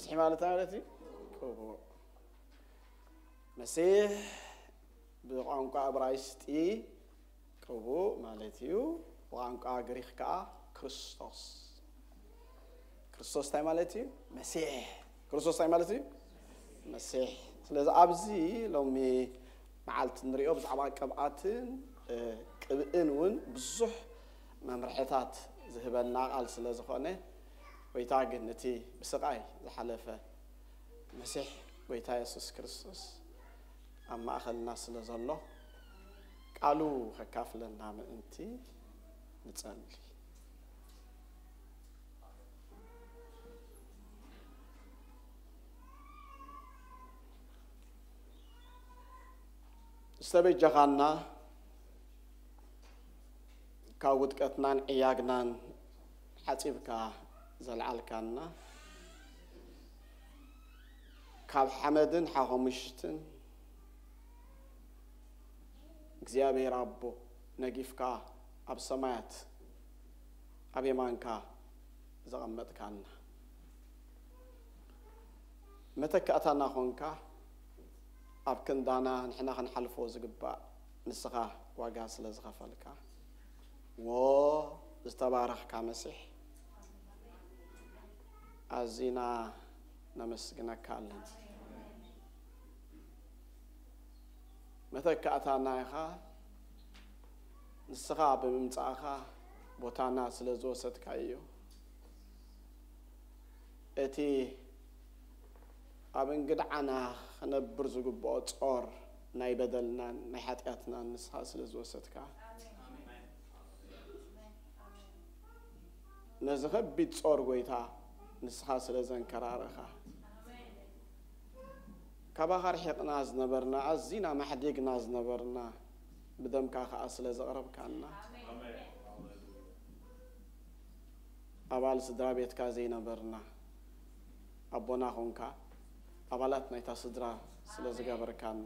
መሲሕ ማለት እንታይ ማለት እዩ? ቅቡእ። መሲሕ ብቋንቋ እብራይስጢ ቅቡእ ማለት እዩ። ብቋንቋ ግሪክ ከዓ ክርስቶስ። ክርስቶስ እንታይ ማለት እዩ? መሲሕ። ክርስቶስ እንታይ ማለት እዩ? መሲሕ። ስለዚ ኣብዚ ሎሚ መዓልቲ ንሪኦ ብዛዕባ ቅብኣትን ቅብእን እውን ብዙሕ መምርሕታት ዝህበና ቃል ስለ ዝኾነ፣ ጎይታ ግን እቲ ብስቓይ ዝሓለፈ መሲሕ ጎይታ የሱስ ክርስቶስ ኣብ ማእኸልና ስለ ዘሎ፣ ቃሉ ከካፍለና ምእንቲ ንጸሊ። ዝተበጀኻና፣ ካብ ውድቀትናን ዕያግናን ሓጺብካ ዘልዓልካና፣ ካብ ሓመድን ሓኾምሽትን እግዚኣብሔር ኣቦ ነጊፍካ ኣብ ሰማያት ኣብ የማንካ ዘቐመጥካና፣ መተካእታና ኾንካ፣ ኣብ ክንዳና ንሕና ክንሓልፎ ዝግባእ ንስኻ ዋጋ ስለ ዝኸፈልካ፣ ዎ ዝተባረኽካ መሲሕ፣ ኣዚና ነመስግነካ ኣለና። መተካእታና ኢኻ። ንስኻ ብምምጻእኻ ቦታና ስለ ዝወሰድካዮ፣ እቲ ኣብ እንግድዓና ክነብር ዝግብኦ ጾር ናይ በደልናን ናይ ሓጢኣትናን ንስኻ ስለ ዝወሰድካ፣ ነዚ ከቢድ ጾር ጎይታ ንስኻ ስለ ዘንከራረኻ፣ ካባኻ ርሒቕና ዝነበርና፣ ኣዚና ማሕዲግና ዝነበርና፣ ብደምካ ኸኣ ስለ ዘቕረብካና፣ ኣባል ስድራ ቤትካ ዘይነበርና፣ ኣቦና ኾንካ፣ ኣባላት ናይታ ስድራ ስለ ዝገበርካና፣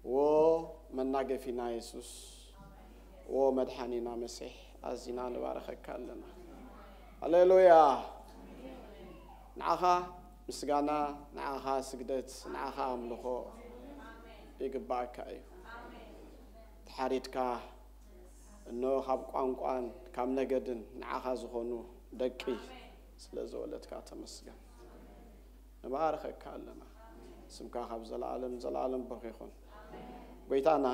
ዎ መናገፊና የሱስ፣ ዎ መድሓኒና መሲሕ፣ ኣዚና ንባረኸካ ኣለና። ሃሌሉያ! ንዓኻ ምስጋና፣ ንዓኻ ስግደት፣ ንዓኻ ኣምልኾ ይግባኣካ እዩ። ተሓሪድካ፣ እነሆ ካብ ቋንቋን ካብ ነገድን ንዓኻ ዝኾኑ ደቂ ስለ ዝወለድካ ተመስገን። ንባርኸካ ኣለና። ስምካ ካብ ዘለኣለም ዘለኣለም ብሩኽ ይኹን። ጎይታና፣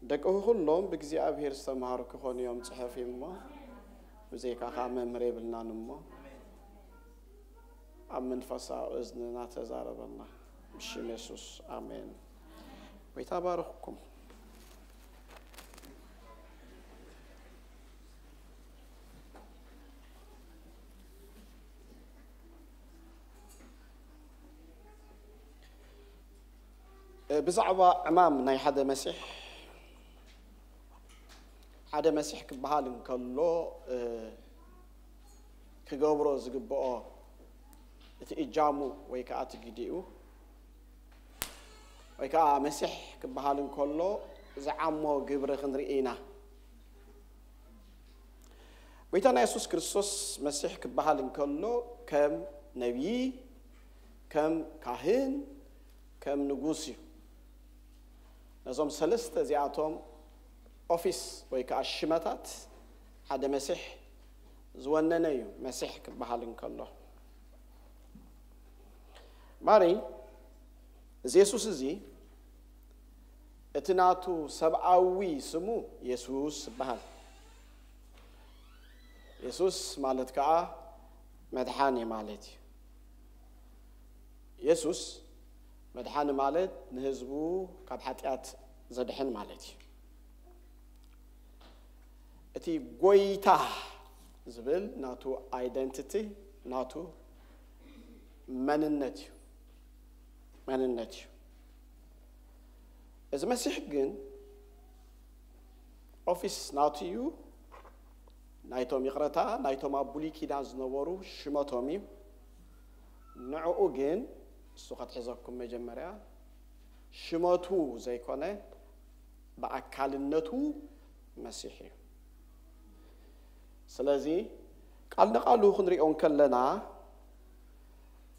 ደቅኹ ኩሎም ብእግዚኣብሔር ዝተምሃሩ ክኾኑ እዮም ጽሑፍ እዩ እሞ፣ ብዘይካኻ መምህር የብልናን እሞ፣ ኣብ መንፈሳዊ እዝንና ተዛረበና። ብሽም የሱስ፣ ኣሜን። ጎይታ ባርኽኩም። ብዛዕባ ዕማም ናይ ሓደ መሲሕ፣ ሓደ መሲሕ ክበሃል እንከሎ፣ እ፣ ክገብሮ ዝግብኦ እቲ እጃሙ ወይ ከዓ እቲ ግዲኡ፣ ወይ ከዓ መሲሕ ክበሃል እንከሎ ዝዓሞ ግብሪ ክንርኢ ኢና። ጎይታና የሱስ ክርስቶስ መሲሕ ክበሃል እንከሎ ከም ነቢይ፣ ከም ካህን፣ ከም ንጉስ እዩ። ነዞም ሰለስተ እዚኣቶም ኦፊስ ወይ ከዓ ሽመታት ሓደ መሲሕ ዝወነነ እዩ፣ መሲሕ ክበሃል እንከሎ። ማሪ፣ እዚ የሱስ እዚ፣ እቲ ናቱ ሰብኣዊ ስሙ የሱስ ይበሃል። የሱስ ማለት ከዓ መድሓኒ ማለት እዩ። የሱስ መድሓኒ ማለት ንህዝቡ ካብ ሓጢኣት ዘድሕን ማለት እዩ። እቲ ጎይታ ዝብል ናቱ ኣይደንቲቲ፣ ናቱ መንነት እዩ፣ መንነት እዩ። እዚ መሲሕ ግን ኦፊስ ናቱ እዩ። ናይቶም፣ ይቕረታ፣ ናይቶም ኣብ ብሉይ ኪዳን ዝነበሩ ሽመቶም እዩ። ንዕኡ ግን፣ እሱ ከትሕዘኩም መጀመርያ፣ ሽመቱ ዘይኮነ፣ ብኣካልነቱ መሲሕ እዩ። ስለዚ ቃል ንቃሉ ክንሪኦ እንከለና፣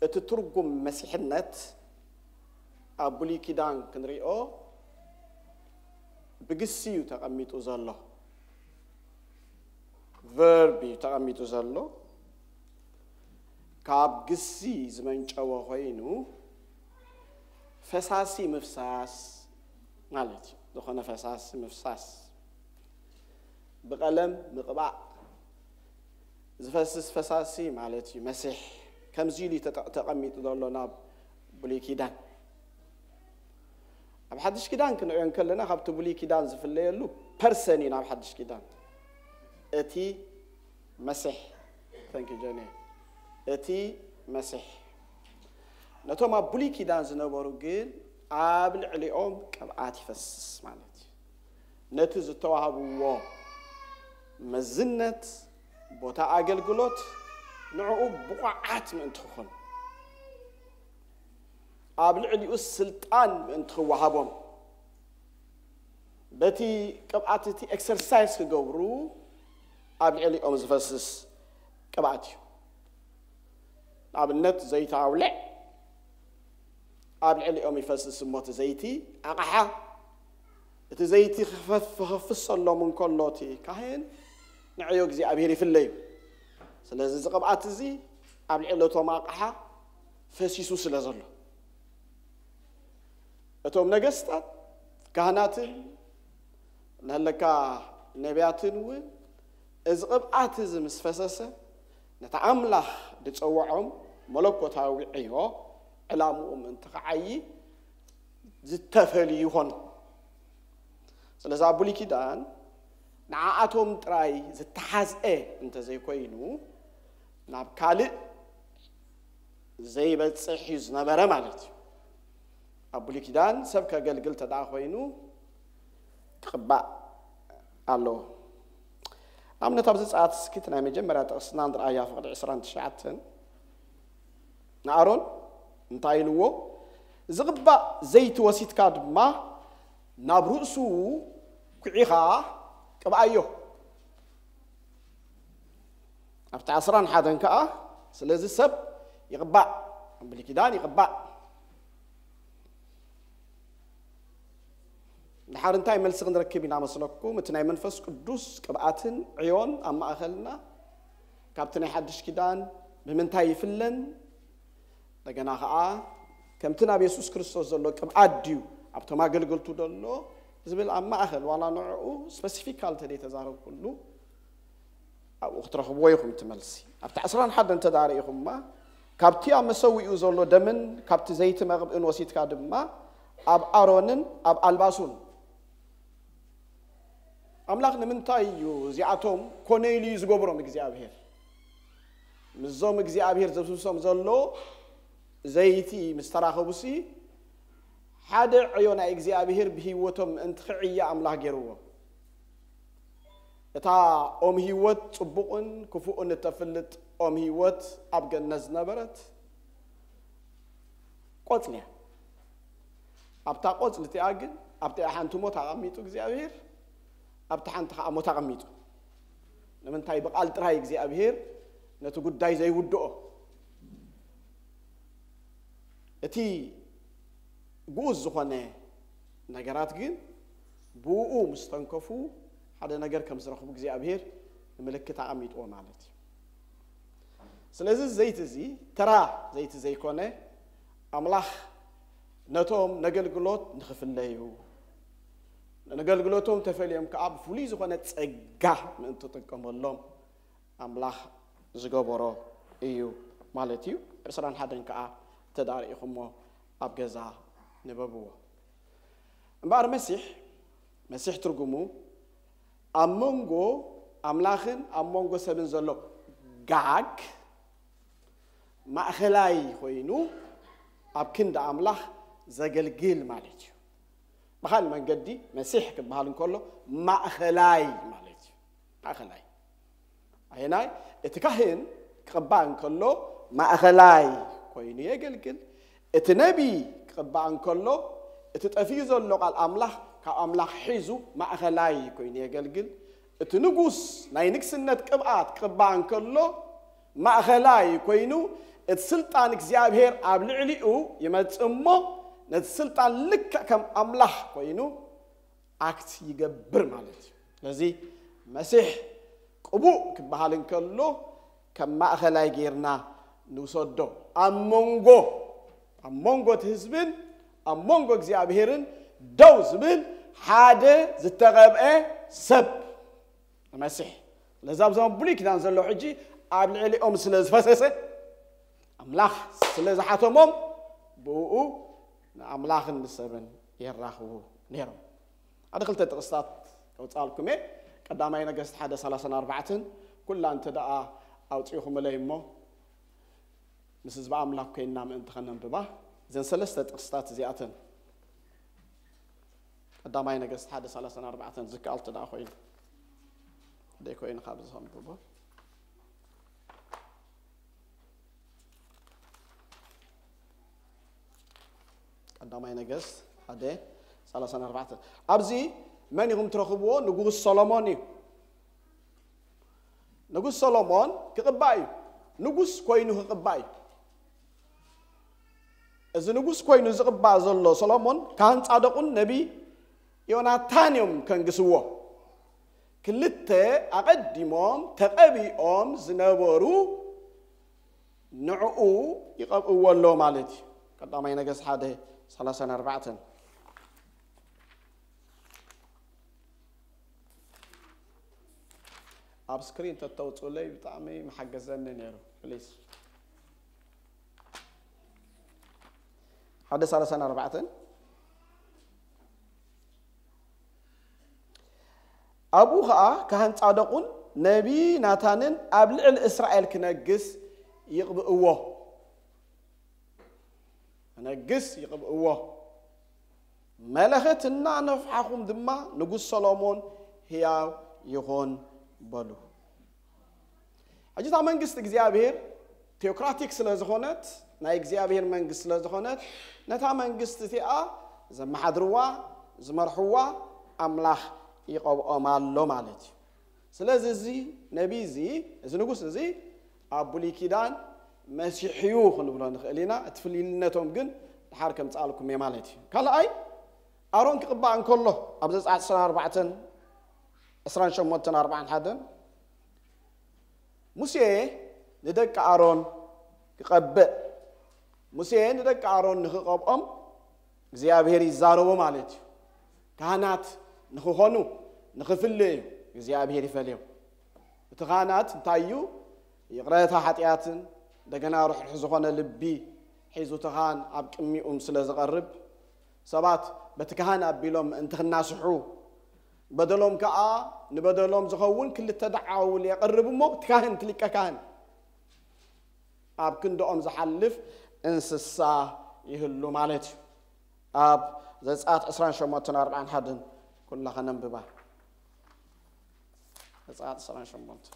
እቲ ትርጉም መሲሕነት ኣብ ብሉይ ኪዳን ክንሪኦ ብግሲ እዩ ተቐሚጡ ዘሎ። ቨርብ እዩ ተቐሚጡ ዘሎ። ካብ ግሲ ዝመንጨወ ኮይኑ ፈሳሲ ምፍሳስ ማለት እዩ። ዝኾነ ፈሳሲ ምፍሳስ፣ ብቐለም ምቕባእ፣ ዝፈስስ ፈሳሲ ማለት እዩ። መሲሕ ከምዚ ኢሉ እዩ ተጠ- ተቐሚጡ ዘሎ ናብ ብሉይ ኪዳን። ኣብ ሓድሽ ኪዳን ክንሪኦ እንከለና ካብቲ ብሉይ ኪዳን ዝፍለየሉ ፐርሰን እዩ። ናብ ሓድሽ ኪዳን እቲ መሲሕ፣ thank you ጆኒ፣ እቲ መሲሕ ነቶም ኣብ ብሉይ ኪዳን ዝነበሩ ግን ኣብ ልዕሊኦም ቅብኣት ይፈስስ ማለት እዩ። ነቲ ዝተዋህብዎ መዝነት፣ ቦታ ኣገልግሎት ንዕኡ ብቑዓት ምእንቲ ክኾኑ፣ ኣብ ልዕሊኡ ስልጣን ምእንቲ ክወሃቦም፣ በቲ ቅብኣት እቲ ኤክሰርሳይዝ ክገብሩ ኣብ ልዕሊኦም ዝፈስስ ቅብኣት እዩ። ንኣብነት ዘይቲ ኣውልዕ፣ ኣብ ልዕሊኦም ይፈስስ እሞ እቲ ዘይቲ ኣቕሓ፣ እቲ ዘይቲ ክፈፍ- ክፈፍሰሎም እንከሎ እቲ ካህን ንዕዮ እግዚኣብሔር ይፍለዩ። ስለዚ እዚ ቅብኣት እዚ ኣብ ልዕሊ እቶም ኣቕሓ ፈሲሱ ስለ ዘሎ፣ እቶም ነገስታት፣ ካህናትን፣ ንሃለካ ነቢያትን እውን እዚ ቅብኣት እዚ ምስ ፈሰሰ፣ ነቲ ኣምላኽ ዝጸውዖም መለኮታዊ ዕዮ ዕላምኡ ምእንቲ ክዓዪ ዝተፈልዩ ይኾኑ። ስለዚ ኣብ ብሉይ ኪዳን ንዓኣቶም ጥራይ ዝተሓዝአ እንተዘይኮይኑ፣ ናብ ካልእ ዘይበጽሕ እዩ ዝነበረ ማለት እዩ። ኣብ ብሉይ ኪዳን ሰብ ከገልግል ተደኣ ኮይኑ ክቕባእ ኣለዎ። ኣብነት ኣብዚ ጸኣት እስኪ እቲ ናይ መጀመርያ ጥቕስና ንርኣያ፣ ፍቕዲ ዕስራን ትሽዓተን ንኣሮን እንታይ ኢልዎ? ዝቕባእ ዘይቲ ወሲድካ ድማ ናብ ርእሱ ኩዒኻ ቅብኣዮ። ኣብቲ ዓስራን ሓደን ከኣ ስለዚ ሰብ ይቕባእ፣ ብሉይ ኪዳን ይቕባእ። ድሓር እንታይ መልሲ ክንረክብ ኢና መስለኩም? እቲ ናይ መንፈስ ቅዱስ ቅብኣትን ዕዮን ኣብ ማእኸልና ካብቲ ናይ ሓድሽ ኪዳን ብምንታይ ይፍለን? እንደገና ኸዓ ከምቲ ናብ የሱስ ክርስቶስ ዘሎ ቅብኣት ድዩ ኣብቶም ኣገልገልቱ ዘሎ ዝብል ኣብ ማእኸል ዋላ ንዕኡ ስፐሲፊካል ተደይ ተዛረብኩሉ ኣብኡ ክትረኽብዎ ኢኹም እቲ መልሲ። ኣብቲ ዓስራን ሓደን እንተ ደኣ ርኢኹማ፣ ካብቲ ኣብ መሰዊኡ ዘሎ ደምን ካብቲ ዘይቲ መቕብእን ወሲድካ ድማ ኣብ ኣሮንን ኣብ ኣልባሱን። ኣምላኽ ንምንታይ እዩ እዚኣቶም ኮነ ኢሉ እዩ ዝገብሮም እግዚኣብሔር? ምስዞም እግዚኣብሔር ዘፍስሶም ዘሎ ዘይቲ ምስ ተራኸቡሲ፣ ሓደ ዕዮ ናይ እግዚኣብሔር ብህይወቶም ምእንቲ ክዕየ ኣምላኽ ገይርዎ። እታ ኦም ህይወት ጽቡቕን ክፉእን እተፍልጥ ኦም ህይወት ኣብ ገነት ዝነበረት ቆጽሊ እያ። ኣብታ ቆጽሊ እቲኣ ግን፣ ኣብቲኣ ሓንቲ ሞት ኣቐሚጡ እግዚኣብሔር፣ ኣብቲ ሓንቲ ኸዓ ሞት ኣቐሚጡ። ንምንታይ? ብቓል ጥራይ እግዚኣብሔር ነቲ ጉዳይ ዘይውድኦ። እቲ ግኡዝ ዝኾነ ነገራት ግን ብኡ ምስ ተንከፉ ሓደ ነገር ከም ዝረኽቡ እግዚኣብሔር ንምልክት ኣቐሚጥዎ ማለት እዩ። ስለዚ ዘይቲ እዚ ተራ ዘይቲ ዘይኮነ፣ ኣምላኽ ነቶም ነገልግሎት ንኽፍለዩ፣ ነገልግሎቶም ተፈልዮም ከኣ ብፍሉይ ዝኾነ ጸጋ ምእንቲ ጥቀመሎም ኣምላኽ ዝገበሮ እዩ ማለት እዩ። ዕስራን ሓደን ከኣ እንተ ደኣ ርኢኹሞ ኣብ ገዛ ንበብዎ። እምበኣር መሲሕ፣ መሲሕ ትርጉሙ ኣብ መንጎ ኣምላኽን ኣብ መንጎ ሰብን ዘሎ ጋግ ማእኸላይ ኮይኑ ኣብ ክንዲ ኣምላኽ ዘገልግል ማለት እዩ። ብኻልእ መንገዲ መሲሕ ክበሃል እንከሎ ማእኸላይ ማለት እዩ። ማእኸላይ ኣየናይ? እቲ ካህን ክቕባእ እንከሎ ማእኸላይ ኮይኑ የገልግል። እቲ ነቢ ክቕባእ እንከሎ እቲ ጠፊኡ ዘሎ ቃል ኣምላኽ ካብ ኣምላኽ ሒዙ ማእኸላይ ኮይኑ የገልግል። እቲ ንጉስ ናይ ንግስነት ቅብኣት ክቕባእ እንከሎ ማእኸላይ ኮይኑ እቲ ስልጣን እግዚኣብሔር ኣብ ልዕሊኡ ይመጽእ እሞ፣ ነቲ ስልጣን ልክዕ ከም ኣምላኽ ኮይኑ ኣክት ይገብር ማለት እዩ። ስለዚ መሲሕ ቅቡእ ክበሃል እንከሎ፣ ከም ማእኸላይ ጌርና ንውሰዶ። ኣብ መንጎ፣ ኣብ መንጎ እቲ ህዝብን ኣብ መንጎ እግዚኣብሔርን ደው ዝብል ሓደ ዝተቐብአ ሰብ ንመሲሕ። ስለዚ ኣብዞም ብሉይ ኪዳን ዘለዉ ሕጂ ኣብ ልዕሊኦም ስለ ዝፈሰሰ፣ ኣምላኽ ስለ ዝሓተሞም፣ ብእኡ ንኣምላኽን ንሰብን የራኽቡ ነይሮም። ሓደ ክልተ ጥቕስታት ከውፅኣልኩም እየ። ቀዳማይ ነገስት ሓደ ሰላሳን ኣርባዕተን፣ ኩላ እንተ ደኣ ኣውፂእኹምለይ እሞ፣ ምስ ህዝቢ ኣምላኽ ኮይንና ምእንቲ ኸነንብባ፣ እዘን ሰለስተ ጥቕስታት እዚኣተን፣ ቀዳማይ ነገስት ሓደ ሰላሳን ኣርባዕተን ዝከኣል እንተ ደኣ ኮይኑ፣ ደይ ኮይኑ ካብ ዘንብቦ። ቀዳማይ ነገስት ሓደ ሰላሳን ኣርባዕተን። ኣብዚ መን ኢኹም ትረኽብዎ? ንጉስ ሰሎሞን እዩ። ንጉስ ሰሎሞን ክቕባእ እዩ። ንጉስ ኮይኑ ክቕባእ እዩ። እዚ ንጉስ ኮይኑ ዝቕባእ ዘሎ ሰሎሞን፣ ካህን ጻድቑን ነቢይ ዮናታን እዮም ከንግስዎ። ክልተ ኣቐዲሞም ተቐቢኦም ዝነበሩ ንዕኡ ይቐብእዎ ኣሎ ማለት እዩ። ቀዳማይ ነገስት ሓደ ሰላሳን ኣርባዕተን። ኣብ ስክሪን ተተውፅኡለይ ብጣዕሚ መሓገዘኒ ነይሩ። ፕሊዝ። ሓደ ሰላሳን ኣርባዕተን። ኣብኡ ኸዓ ካህን ጻደቁን ነቢ ናታንን ኣብ ልዕሊ እስራኤል ክነግስ ይቕብእዎ። ክነግስ ይቕብእዎ። መለኸት እናነፍሓኹም ድማ ንጉስ ሰሎሞን ህያው ይኹን በሉ። ሕጂ እታ መንግስቲ እግዚኣብሔር ቴኦክራቲክ ስለ ዝኾነት፣ ናይ እግዚኣብሔር መንግስቲ ስለ ዝኾነት፣ ነታ መንግስቲ እቲኣ ዘመሓድርዋ፣ ዝመርሕዋ ኣምላኽ ይቐብኦም ኣሎ ማለት እዩ። ስለዚ እዚ ነቢይ እዚ፣ እዚ ንጉስ እዚ ኣብ ብሉይ ኪዳን መሲሕ እዩ ክንብሎ ንኽእል ኢና። እቲ ፍልይነቶም ግን ድሓር ከምጽኣልኩም እየ ማለት እዩ። ካልኣይ፣ ኣሮን ክቕባእ እንከሎ ኣብ ዘጸኣት ዕስራን ኣርባዕተን፣ ዕስራን ሸሞንተን፣ ኣርባዓን ሓደን፣ ሙሴ ንደቂ ኣሮን ክቐብእ፣ ሙሴ ንደቂ ኣሮን ንኽቐብኦም እግዚኣብሔር ይዛረቦ ማለት እዩ። ካህናት ንኽኾኑ፣ ንኽፍልዩ እግዚኣብሔር ይፈልዮም። እቲ ካህናት እንታይ እዩ? ይቕረታ ሓጢኣትን እንደገና ርሕሩሕ ዝኾነ ልቢ ሒዙ እቲ ካህን ኣብ ቅድሚኡም ስለ ዝቐርብ፣ ሰባት በቲ ካህን ኣቢሎም ምእንቲ ክናስሑ፣ በደሎም ከኣ ንበደሎም ዝኸውን ክልተ ደዓውል የቕርብ እሞ፣ እቲ ካህን፣ እቲ ሊቀ ካህን ኣብ ክንድኦም ዝሓልፍ እንስሳ ይህሉ ማለት እዩ። ኣብ ዘጸኣት ዕስራን ሸሞንተን ኣርባዓን ሓደን ኩላ ኸነንብባ። ዘጸኣት ዕስራን ሸሞንተን።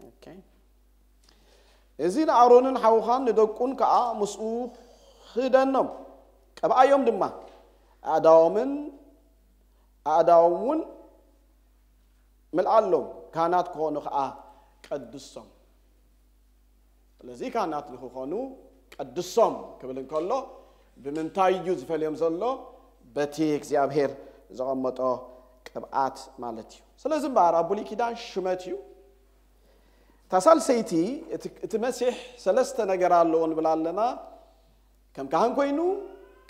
ኦኬ። እዚ ንኣሮንን ሓውኻን ንደቁን ከኣ ምስኡ ኽደኖም፣ ቀብኣዮም ድማ፣ ኣእዳዎምን ኣእዳዎም እውን ምልኣሎም፣ ካህናት ክኾኑ ከኣ ቀድሶም። ስለዚ ካህናት ንኽኾኑ ቀድሶም ክብል እንከሎ፣ ብምንታይ እዩ ዝፈልዮም ዘሎ? በቲ እግዚኣብሔር ዘቐመጦ ቅብኣት ማለት እዩ። ስለዚ እምበኣር ኣብ ብሉይ ኪዳን ሽመት እዩ። እታ ሳልሰይቲ፣ እቲ፣ እቲ መሲሕ ሰለስተ ነገር ኣለዎ ንብል ኣለና። ከም ካህን ኮይኑ፣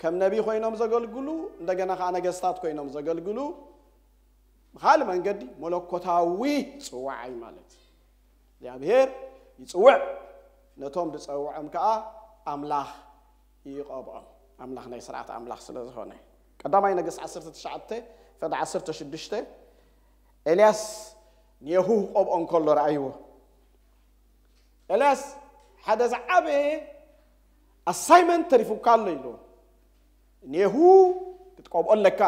ከም ነቢይ ኮይኖም ዘገልግሉ፣ እንደገና ከዓ ነገስታት ኮይኖም ዘገልግሉ፣ ብኻልእ መንገዲ መለኮታዊ ጽዋዕ እዩ ማለት እዩ። እግዚኣብሔር ይጽውዕ፣ ነቶም ዝጸውዖም ከዓ ኣምላኽ ይቐብኦም። ኣምላኽ ናይ ስርዓት ኣምላኽ ስለ ዝኾነ። ቀዳማይ ነገስት ዓሰርተ ትሽዓተ፣ ፍቕዲ ዓሰርተ ሽዱሽተ፣ ኤልያስ ንየሁ ክቐብኦ እንከሎ ረኣይዎ። ኤልያስ ሓደ ዝዓበየ ኣሳይመንት ተሪፉካ ኣሎ ኢሉ። ኔሁ ክትቀብኦ ኣለካ።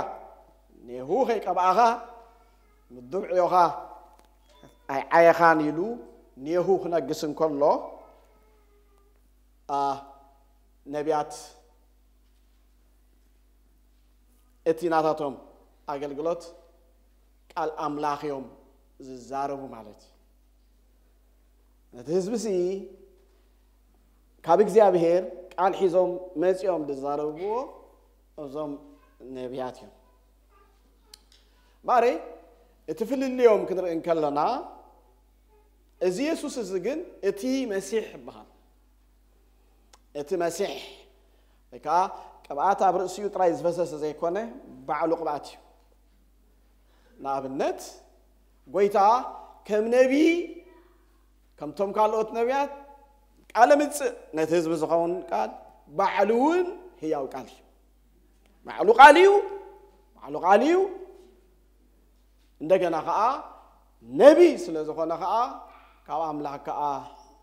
ኔሁ ከይቀብኣኻ ምዱብ ዕዮኻ ኣይዓየኻን ኢሉ ኔሁ ክነግስ እንከሎ፣ ኣ፣ ነቢያት እቲ ናታቶም ኣገልግሎት ቃል ኣምላኽ እዮም ዝዛረቡ ማለት እዩ። ነቲ ህዝቢ ሲ ካብ እግዚኣብሔር ቃል ሒዞም መጺኦም ዝዛረብዎ እዞም ነቢያት እዮም። ማሬ እቲ ፍልልዮም ክንርኢ እንከለና፣ እዚ የሱስ እዚ ግን እቲ መሲሕ ይበሃል። እቲ መሲሕ ወይ ከዓ ቅብኣት ኣብ ርእሲኡ ጥራይ ዝፈሰሰ ዘይኮነ፣ ባዕሉ ቅብኣት እዩ። ንኣብነት፣ ጎይታ ከም ነቢ፣ ከምቶም ካልኦት ነቢያት ቃለ ምጽእ፣ ነቲ ህዝቢ ዝኸውን ቃል፣ ባዕሉ እውን ህያው ቃል እዩ። ባዕሉ ቃል እዩ። ባዕሉ ቃል እዩ። እንደገና ከዓ ነቢ ስለ ዝኾነ ከዓ ካብ ኣምላኽ ከዓ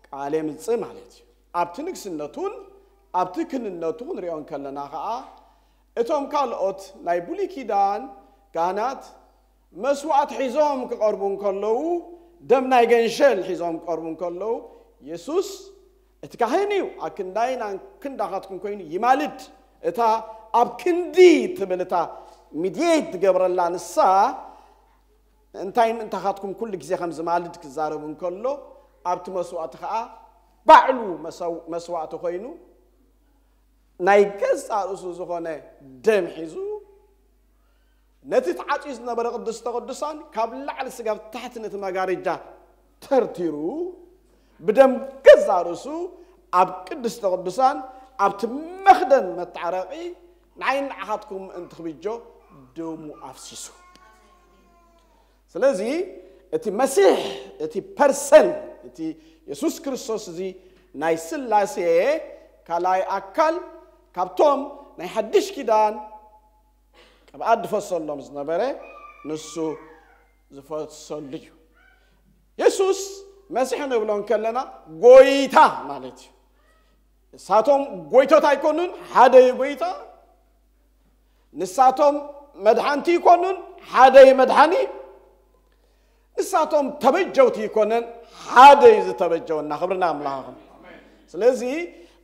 ቃል የምጽእ ማለት እዩ። ኣብቲ ንግስነቱን ኣብቲ ክህንነቱ ክንሪኦ እንከለና ከዓ፣ እቶም ካልኦት ናይ ብሉይ ኪዳን ካህናት መስዋዕት ሒዞም ክቐርቡ እንከለዉ፣ ደም ናይ ገንሸል ሒዞም ክቐርቡ እንከለዉ፣ የሱስ እቲ ካህን እዩ፣ ኣብ ክንዳይን ኣብ ክንዳኻትኩም ኮይኑ ይማልድ። እታ ኣብ ክንዲ ትብል፣ እታ ሚድየት ትገብረላ ንሳ፣ እንታይ ምእንታኻትኩም ኩሉ ግዜ ከም ዝማልድ ክዛረብ እንከሎ፣ ኣብቲ መስዋዕቲ ኸዓ ባዕሉ መሰው-፣ መስዋዕቲ ኮይኑ፣ ናይ ገዛእ ርእሱ ዝኾነ ደም ሒዙ፣ ነቲ ተዓጽዩ ዝነበረ ቅድስተ ቅዱሳን ካብ ላዕሊ ስጋብ ታሕቲ ነቲ መጋረጃ ተርቲሩ፣ ብደም ገዛእ ርእሱ ኣብ ቅድስተ ቅዱሳን፣ ኣብቲ መኽደን መታረቒ፣ ንዓይን ንዓኻትኩም ምእንቲ ክብጆ ደሙ ኣፍሲሱ። ስለዚ እቲ መሲሕ፣ እቲ ፐርሰን፣ እቲ የሱስ ክርስቶስ እዚ ናይ ስላሴ ካልኣይ ኣካል፣ ካብቶም ናይ ሓድሽ ኪዳን ቅብኣት ዝፈሰሎም ዝነበረ፣ ንሱ ዝፈሰሉ እዩ። የሱስ መሲሕ ንብሎ እንከለና፣ ጎይታ ማለት እዩ። ንሳቶም ጎይቶት ኣይኮኑን፣ ሓደ እዩ ጎይታ። ንሳቶም መድሓንቲ ይኮኑን፣ ሓደ እዩ መድሓኒ። ንሳቶም ተበጀውቲ ይኮነን፣ ሓደ እዩ ዝተበጀወና። ክብርና ኣምላኽ ይኹን። ስለዚ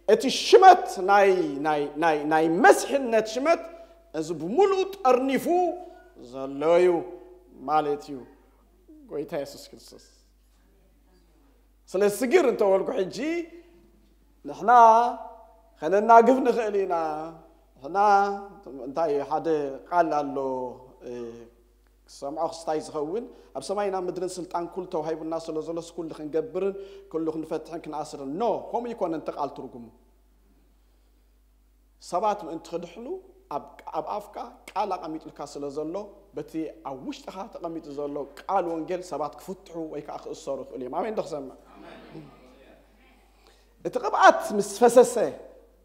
እቲ ሽመት ናይ፣ ናይ፣ ናይ፣ ናይ መስሕነት ሽመት እዚ ብምሉኡ ጠርኒፉ ዘሎ እዩ ማለት እዩ፣ ጎይታ የሱስ ክርስቶስ። ስለ ስግር እንተበልኩ ሕጂ፣ ንሕና ከነናግፍ ንኽእል ኢና። ንሕና እንታይ ሓደ ቃል ኣሎ፣ እ፣ ክሰምዖ ክስታይ ዝኸውን፣ ኣብ ሰማይን ኣብ ምድርን ስልጣን ኩሉ ተዋሂቡና ስለ ዘሎስ ኩሉ ክንገብርን ኩሉ ክንፈትሕን ክንኣስርን። ኖ፣ ከምኡ ይኮነን እቲ ቃል ትርጉሙ። ሰባት ምእንቲ ክድሕኑ ኣብ፣ ኣብ ኣፍካ ቃል ኣቐሚጡልካ ስለ ዘሎ፣ በቲ ኣብ ውሽጥኻ ተቐሚጡ ዘሎ ቃል ወንጌል ሰባት ክፍትሑ ወይ ከዓ ክእሰሩ ይኽእሉ እዮም። ኣሜን ዶ ክሰምዕ? እቲ ቅብኣት ምስ ፈሰሰ፣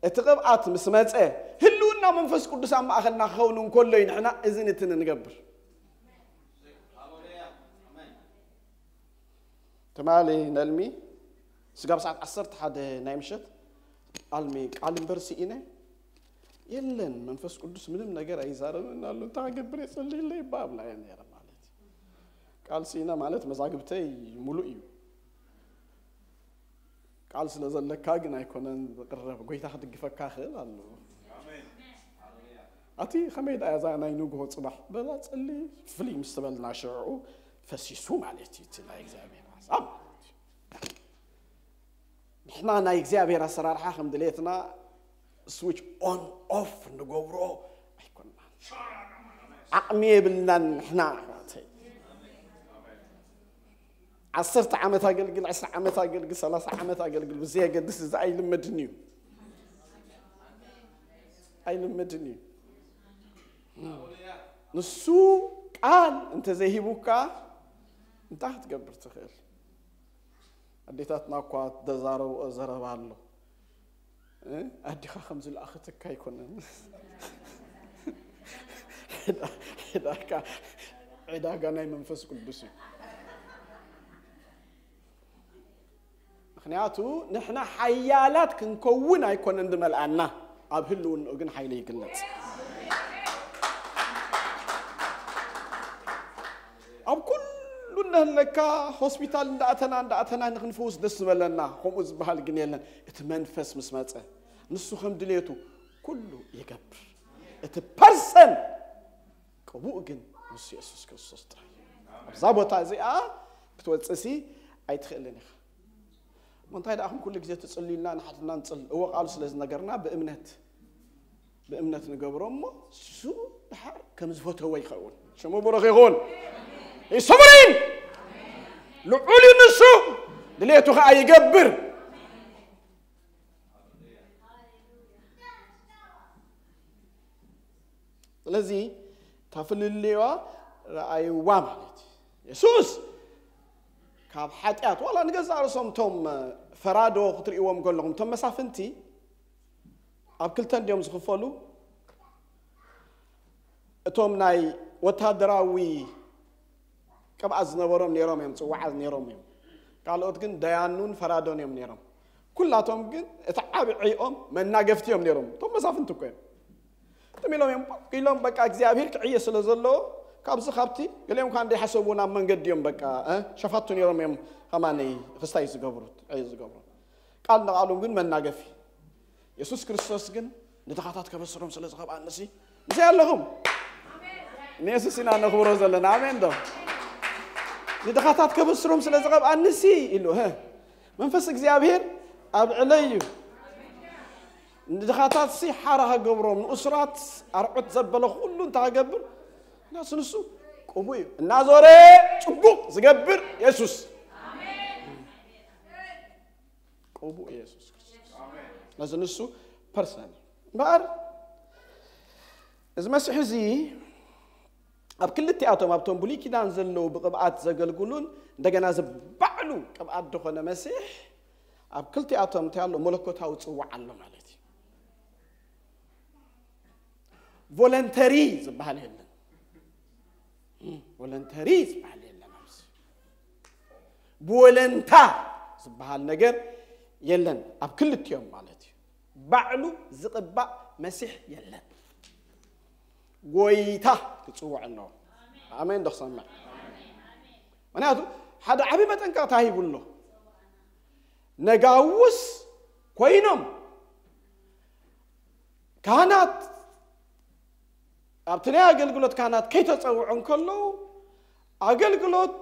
እቲ ቅብኣት ምስ መጸ፣ ህልውና መንፈስ ቅዱስ ኣብ ማእኸልና ክኸውን እንከሎ እዩ ንሕና እዝን እትን እንገብር። ትማሊ ነልሚ ስጋብ ሰዓት ዓሰርተ ሓደ ናይ ምሸት ኣልሚ ቃል እምበር ስኢነ የለን፣ መንፈስ ቅዱስ ምንም ነገር ኣይዛረብን ኣሎ፣ እንታይ ክገብር እየ፣ ጸልይለይ እባ ኣብላ እየ ነይረ ማለት እዩ። ቃል ስኢነ ማለት መዛግብተይ ሙሉእ እዩ። ቃል ስለ ዘለካ ግን ኣይኮነን ዝቕረብ፣ ጎይታ ክድግፈካ ይኽእል ኣሎ። ኣቲ ከመይ ደኣ እዛ ናይ ንግሆ ጽባሕ በላ ጸሊ ፍልይ ምስ ተበልና ሽዑ ፈሲሱ ማለት እዩ እቲ ናይ እግዚኣብሔር ሓሳብ ማለት እዩ። ንሕና ናይ እግዚኣብሔር ኣሰራርሓ ከም ድሌትና ስዊች ኦን ኦፍ ንገብሮ ኣይኮንና። ዓቕሚ የብልናን ንሕና ኣሕዋተይ። ዓሰርተ ዓመት ኣገልግል፣ ዕስራ ዓመት ኣገልግል፣ ሰላሳ ዓመት ኣገልግል ብዘየገድስ እዚ ኣይልመድን እዩ። ኣይልመድን እዩ። ንሱ ቃል እንተዘይሂቡካ እንታይ ክትገብር ትኽእል? ኣዴታትና እኳ ተዛረብኦ ዘረባ ኣሎ። እ? ኣዲኻ ከም ዝለኣኸትካ ኣይኮነን። ዕዳ-፣ ዕዳጋ፣ ዕዳጋ ናይ መንፈስ ቅዱስ እዩ። ምኽንያቱ ንሕና ሓያላት ክንከውን ኣይኮነን ዝመልኣና፣ ኣብ ህልውንኡ ግን ሓይሊ ይግለጽ። ኣብ ኩሉ እነህለካ ሆስፒታል እንዳእተና እንዳእተና ንክንፈውስ ደስ ዝበለና፣ ከምኡ ዝበሃል ግን የለን። እቲ መንፈስ ምስ መጸ ንሱ ከም ድሌቱ ኩሉ ይገብር። እቲ ፐርሰን ቅቡእ ግን ንሱ የሱስ ክርስቶስ ጥራይ። ኣብዛ ቦታ እዚኣ ክትወፅእሲ ኣይትኽእልን ኢኻ። እሞ እንታይ ደኣ፣ ኩሉ ግዜ ትጽልዩልና ንሓድና ንጽል-፣ እወ፣ ቃሉ ስለ ዝነገርና ብእምነት፣ ብእምነት ንገብሮ እሞ፣ እሱ ድሓር ከም ዝፈተዎ ይኸውን። ሽሙ ብሩኽ ይኹን። ይሰሙሪን ልዑል እዩ ንሱ፣ ድሌቱ ኸዓ ይገብር። ስለዚ እታ ፍልልዋ ረኣይዋ ማለት እዩ። የሱስ ካብ ሓጢኣት፣ ዋላ ንገዛእ ርእሶም እቶም ፈራዶ ክትርእይዎም ከለኹም፣ እቶም መሳፍንቲ ኣብ ክልተ እንዲዮም ዝኽፈሉ። እቶም ናይ ወታደራዊ ቅብኣት ዝነበሮም ነይሮም እዮም፣ ጽዋዓት ነይሮም እዮም። ካልኦት ግን ደያኑን ፈራዶን እዮም ነይሮም። ኩላቶም ግን እቲ ዓቢ ዕይኦም መናገፍቲ እዮም ነይሮም። እቶም መሳፍንቲ እኮ እዮም። ትም ኢሎም እዮም፣ ኢሎም በቃ እግዚኣብሔር ክዕየ ስለ ዘለዎ፣ ካብዚ ካብቲ ገሊኦም ከዓ እንዳይሓሰቡ ናብ መንገዲ እዮም በቃ፣ እ፣ ሸፋቱ ነይሮም እዮም። ከማነይ ክስታይ ዝገብሩት፣ ዕዮ ዝገብሩ። ቃል ንቓሎም ግን መናገፊ። የሱስ ክርስቶስ ግን ንድኻታት ከበስሮም ስለ ዝቐብኣንሲ፣ ምስይ ኣለኹም። ንየሱስ ኢና ነኽብሮ ዘለና። ኣሜን ዶ? ንድኻታት ከበስሮም ስለ ዝቐብኣንሲ ኢሉ፣ ህ፣ መንፈስ እግዚኣብሔር ኣብ ልዕለይ እዩ። ንድኻታትሲ ሓራ ከገብሮም፣ ንእሱራት ኣርዑት ዘበለ ኩሉ እንታይ ከገብር? ናሱ ንሱ ቅቡእ እዩ። እናዞረ ጽቡቕ ዝገብር የሱስ። ቅቡእ የሱስ ክርስቶስ። ነዚ ንሱ ፐርሰን እምበኣር፣ እዚ መሲሕ እዚ ኣብ ክልቲኣቶም፣ ኣብቶም ብሉይ ኪዳን ዘለዉ ብቕብኣት ዘገልግሉን እንደገና ዝባዕሉ ቅብኣት ዝኾነ መሲሕ፣ ኣብ ክልቲኣቶም እንታይ ኣሎ? መለኮታዊ ጽዋዕ ኣሎ ማለት እዩ። ቮለንተሪ ዝበሃል የለን። ቮለንተሪ ዝበሃል የለን። ኣብዚ ብወለንታ ዝበሃል ነገር የለን። ኣብ ክልቲኦም ማለት እዩ። ባዕሉ ዝቕባእ መሲሕ የለን። ጎይታ ክጽውዕ ኣለዎ። ኣሜን ዶ ክሰምዕ? ምክንያቱ ሓደ ዓቢ መጠንቀቕታ ሂቡ ኣሎ። ነጋውስ ኮይኖም ካህናት ኣብቲ ናይ ኣገልግሎት ካህናት ከይተጸውዑ እንከለዉ፣ ኣገልግሎት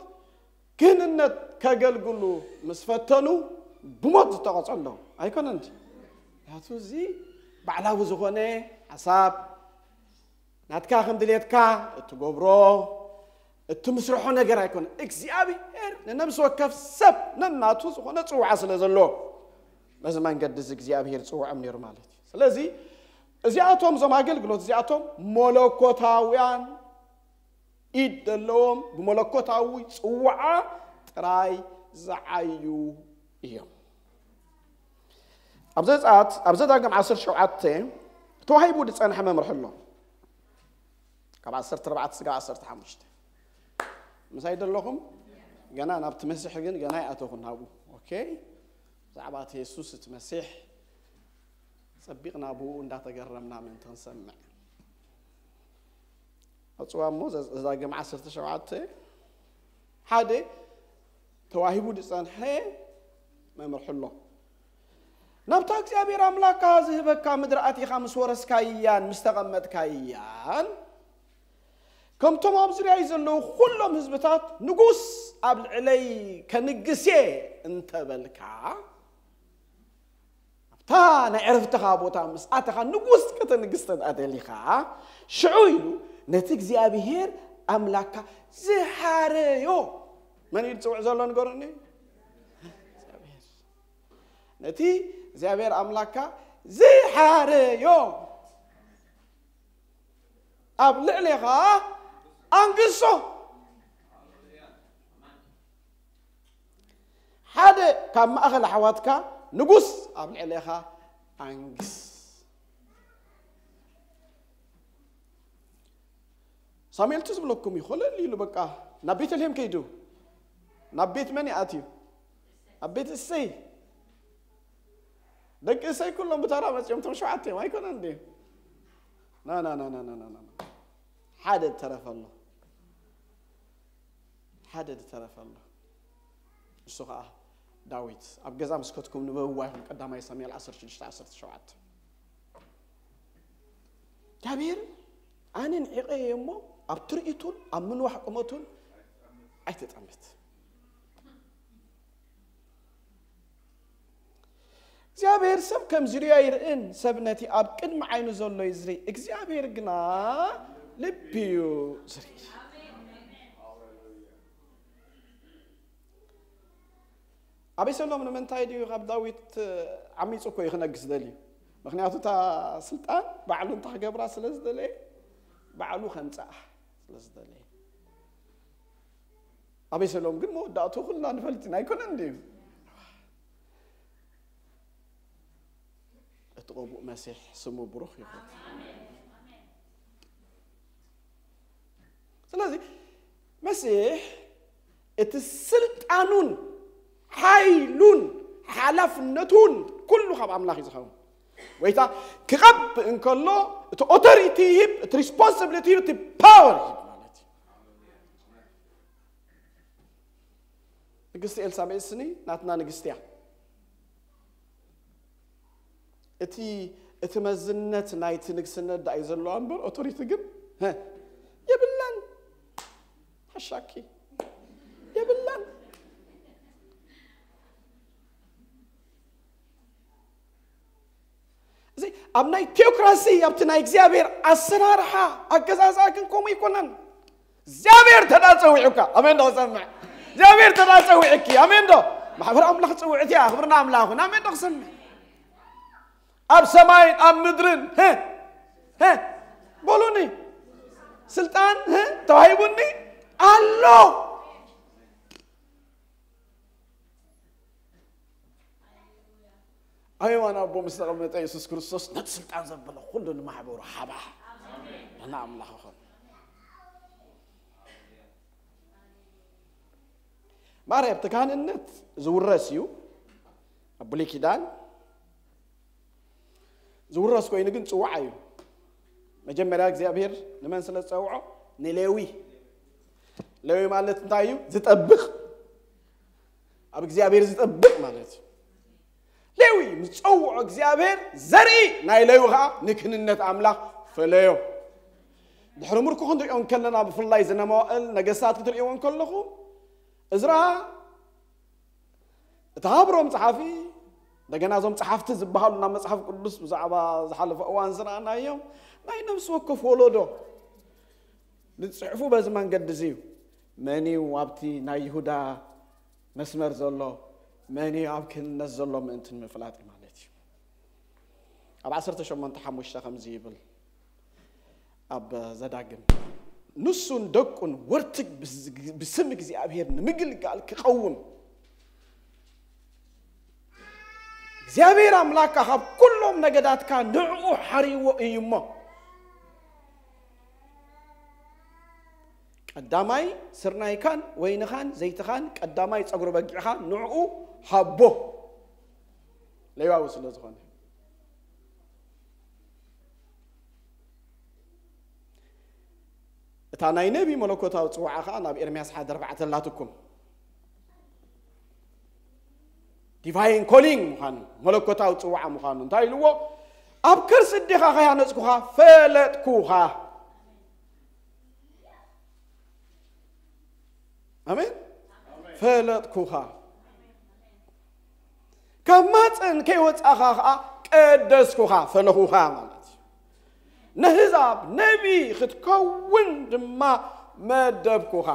ክህንነት ከገልግሉ ምስ ፈተኑ ብሞት ዝተቐጸ ኣለዉ። ኣይኮነን ድዩ? ምክንያቱ እዚ ባዕላዊ ዝኾነ ሓሳብ፣ ናትካ ከም ድሌትካ እትገብሮ፣ እትምስርሖ ነገር ኣይኮነን። እግዚኣብሔር ንነብሲ ወከፍ ሰብ ነናቱ ዝኾነ ጽውዓ ስለ ዘሎ፣ በዚ መንገዲ እዚ እግዚኣብሔር ጽውዖም ነይሩ ማለት እዩ። ስለዚ እዚኣቶም፣ እዞም ኣገልግሎት እዚኣቶም መለኮታውያን ኢድ ዘለዎም፣ ብመለኮታዊ ጽውዓ ጥራይ ዝዓዩ እዮም። ኣብ ዘጸኣት፣ ኣብ ዘዳግም ዓሰርተ ሸውዓተ ተዋሂቡ ዝጸንሐ መምርሒ ኣሎ። ካብ ዓሰርተ ኣርባዕተ ስጋብ ዓሰርተ ሓሙሽተ። ምሳይ ደለኹም? ገና ናብቲ መሲሕ ግን ገና ይኣተኹ ናብኡ። ኦኬ? ብዛዕባ እቲ የሱስ እቲ መሲሕ ጸቢቕና ብኡ እንዳተገረምና ምእንቲ ክንሰምዕ። ኣጽዋ እሞ ዘ-፣ ዘዳግም ዓሰርተ ሸውዓተ ሓደ ተዋሂቡ ዝጸንሐ መምርሒ ኣሎ። ናብታ እግዚኣብሔር ኣምላካ ዝህበካ ምድሪ ኣቲኻ ምስ ወረስካያን ምስ ተቐመጥካያን፣ ከምቶም ኣብ ዙርያይ ዘለዉ ኩሎም ህዝብታት ንጉስ ኣብ ልዕለይ ከንግስ እየ እንተበልካ፣ ኣብታ ናይ ዕረፍትኻ ቦታ ምስ ኣተኻ ንጉስ ከተንግስ እንተ ደሊኻ፣ ሽዑ ኢሉ ነቲ እግዚኣብሔር ኣምላካ ዝሓረዮ፣ መን እዩ ዝጽውዕ ዘሎ ንገሩኒ? እግዚኣብሔር። ነቲ እግዚኣብሔር ኣምላካ ዝሓረዮ ኣብ ልዕሌኻ ኣንግሶ። ሓደ ካብ ማእኸል ኣሕዋትካ ንጉስ ኣብ ልዕሌኻ ኣንግስ። ሳሙኤል እቲ ዝብለኩም እዩ፣ ኮለል ኢሉ በቃ ናብ ቤተልሔም ከይዱ። ናብ ቤት መን ይኣትዩ? ኣብ ቤት እሰይ። ደቂ እሰይ ኩሎም ብተራ መጺኦም፣ እቶም ሸውዓተ እዮም፣ ኣይኮነን እንዴ? ና፣ ና፣ ና። ሓደ ተረፈ ኣሎ። ሓደ ዝተረፈ ኣሎ። ንሱ ኸዓ ዳዊት። ኣብ ገዛ ምስ ከድኩም ንበብዋ ይኹን፣ ቀዳማይ ሳሙኤል ዓሰርተ ሽዱሽተ ዓሰርተ ሸውዓተ። እግዚኣብሔር ኣነ ንዒቐ እየ እሞ ኣብ ትርኢቱን ኣብ ምንዋሕ ቁመቱን ኣይትጠምት። እግዚኣብሔር ሰብ ከም ዝርዮ ኣይርእን፣ ሰብ ነቲ ኣብ ቅድሚ ዓይኑ ዘሎ እዩ ዝርኢ፣ እግዚኣብሔር ግና ልቢ እዩ ዝርኢ። ኣቤሰሎም ንምንታይ ድዩ ካብ ዳዊት ዓሚፁ እኮ እዩ ክነግስ ደልዩ? ምክንያቱ እታ ስልጣን ባዕሉ እንታ ክገብራ ስለ ዝደለየ፣ ባዕሉ ከምፅኣ ስለ ዝደለየ። ኣቤሰሎም ግን መወዳእቱ ኩልና ንፈልጥ ኢና፣ ኣይኮነን ድዩ? እቲ ቀቡእ መሲሕ ስሙ ብሩኽ ይኹን። ስለዚ መሲሕ እቲ ስልጣኑን ሓይሉን ሓላፍነቱን ኩሉ ካብ ኣምላኽ እዩ ዝኸውን። ወይታ ክቐብእ እንከሎ እቲ ኦቶሪቲ ይህብ፣ እቲ ሪስፖንሲቢሊቲ ይህብ፣ እቲ ፓወር ይህብ ማለት እዩ። ንግስቲ ኤልሳቤጥ ስኒ ናትና ንግስቲ እያ። እቲ እቲ መዝነት ናይቲ ንግስነት ዳኣ እዩ ዘለዋ እምበር ኦቶሪቲ ግን፣ ሀ፣ የብላን። ሓሻኪ የብላን። እዚ ኣብ ናይ ቴዎክራሲ፣ ኣብቲ ናይ እግዚኣብሔር ኣሰራርሓ ኣገዛዝኣ ግን ከምኡ ኣይኮነን። እግዚኣብሔር ተዳ ጸዊዑካ፣ ኣሜን ዶ ክሰምዕ? እግዚኣብሔር ተዳ ጸዊዕኪ፣ ኣሜን ዶ? ማሕበር ኣምላኽ ጽውዕቲ እያ፣ ክብርና ኣምላኽ ይኹን። ኣሜን ዶ ክሰምዕ? ኣብ ሰማይን ኣብ ምድርን፣ ህ፣ ህ፣ በሉኒ፣ ስልጣን፣ ህ፣ ተዋሂቡኒ ኣሎ። ኣብ የማን ኣቦ ምስ ተቐመጠ የሱስ ክርስቶስ ነቲ ስልጣን ዘበለ ኩሉ ንማሕበሩ ሓባ። ንሕና ኣምላኽ ይኹን። ማርያም፣ እቲ ካህንነት ዝውረስ እዩ። ኣብ ብሉይ ኪዳን ዝውረስ ኮይኑ ግን ጽዋዕ እዩ። መጀመርያ እግዚኣብሔር ንመን ስለ ዝጸውዖ? ንሌዊ። ሌዊ ማለት እንታይ እዩ? ዝጠብቕ። ኣብ እግዚኣብሔር ዝጠብቕ ማለት እዩ። ሌዊ ምስ ጸውዖ እግዚኣብሔር ዘርኢ ናይ ሌዊ ኸዓ ንክህንነት ኣምላኽ ፈለዮ። ድሕሪ ምርኮ ክንሪኦ እንከለና፣ ብፍላይ ዝነ መዋእል ነገስታት ክትሪእዎ እንከለኹም፣ እዝራ እቲ ሃብሮም ጸሓፊ፣ እንደገና እዞም ጸሓፍቲ ዝበሃሉ ናብ መጽሓፍ ቅዱስ ብዛዕባ ዝሓለፈ እዋን ዝረኣናዮም ናይ ነፍሲ ወከፍ ወለዶ ንጽሕፉ በዚ መንገዲ እዚ እዩ። መን እዩ ኣብቲ ናይ ይሁዳ መስመር ዘሎ፣ መን እዩ ኣብ ክህነት ዘሎ ምእንቲ ንምፍላጥ ማለት እዩ። ኣብ ዓሰርተ ሸሞንተ ሓሙሽተ ከምዚ ይብል፣ ኣብ ዘዳግም፣ ንሱን ደቁን ወርትግ ብዝ-፣ ብስም እግዚኣብሔር ንምግልጋል ክቐውም እግዚኣብሔር ኣምላካ ካብ ኩሎም ነገዳትካ ንዕኡ ሓርይዎ እዩ እሞ፣ ቀዳማይ ስርናይካን ወይንኻን ዘይትኻን ቀዳማይ ጸጉሪ በጊዕኻ ንዕኡ ሃቦ። ሌዋዊ ስለ ዝኾነ። እታ ናይ ነቢ መለኮታዊ ጽዋዓ ኸኣ ናብ ኤርምያስ ሓደ ኣርባዕተ ኣላትኩም። ዲቫይን ኮሊንግ ምዃኑ፣ መለኮታዊ ጽዋዓ ምዃኑ እንታይ ኢልዎ? "ኣብ ከርሲ ኣዴኻ ከይሃነጽኩኻ ፈለጥኩኻ." ኣሜን። "ፈለጥኩኻ፣ ካብ ማፀን ከይወጻኻ ኸዓ ቀደስኩኻ፣ ፈለኹኻ" ማለት እዩ። "ነህዛብ ነቢ ክትከውን ድማ መደብኩኻ።"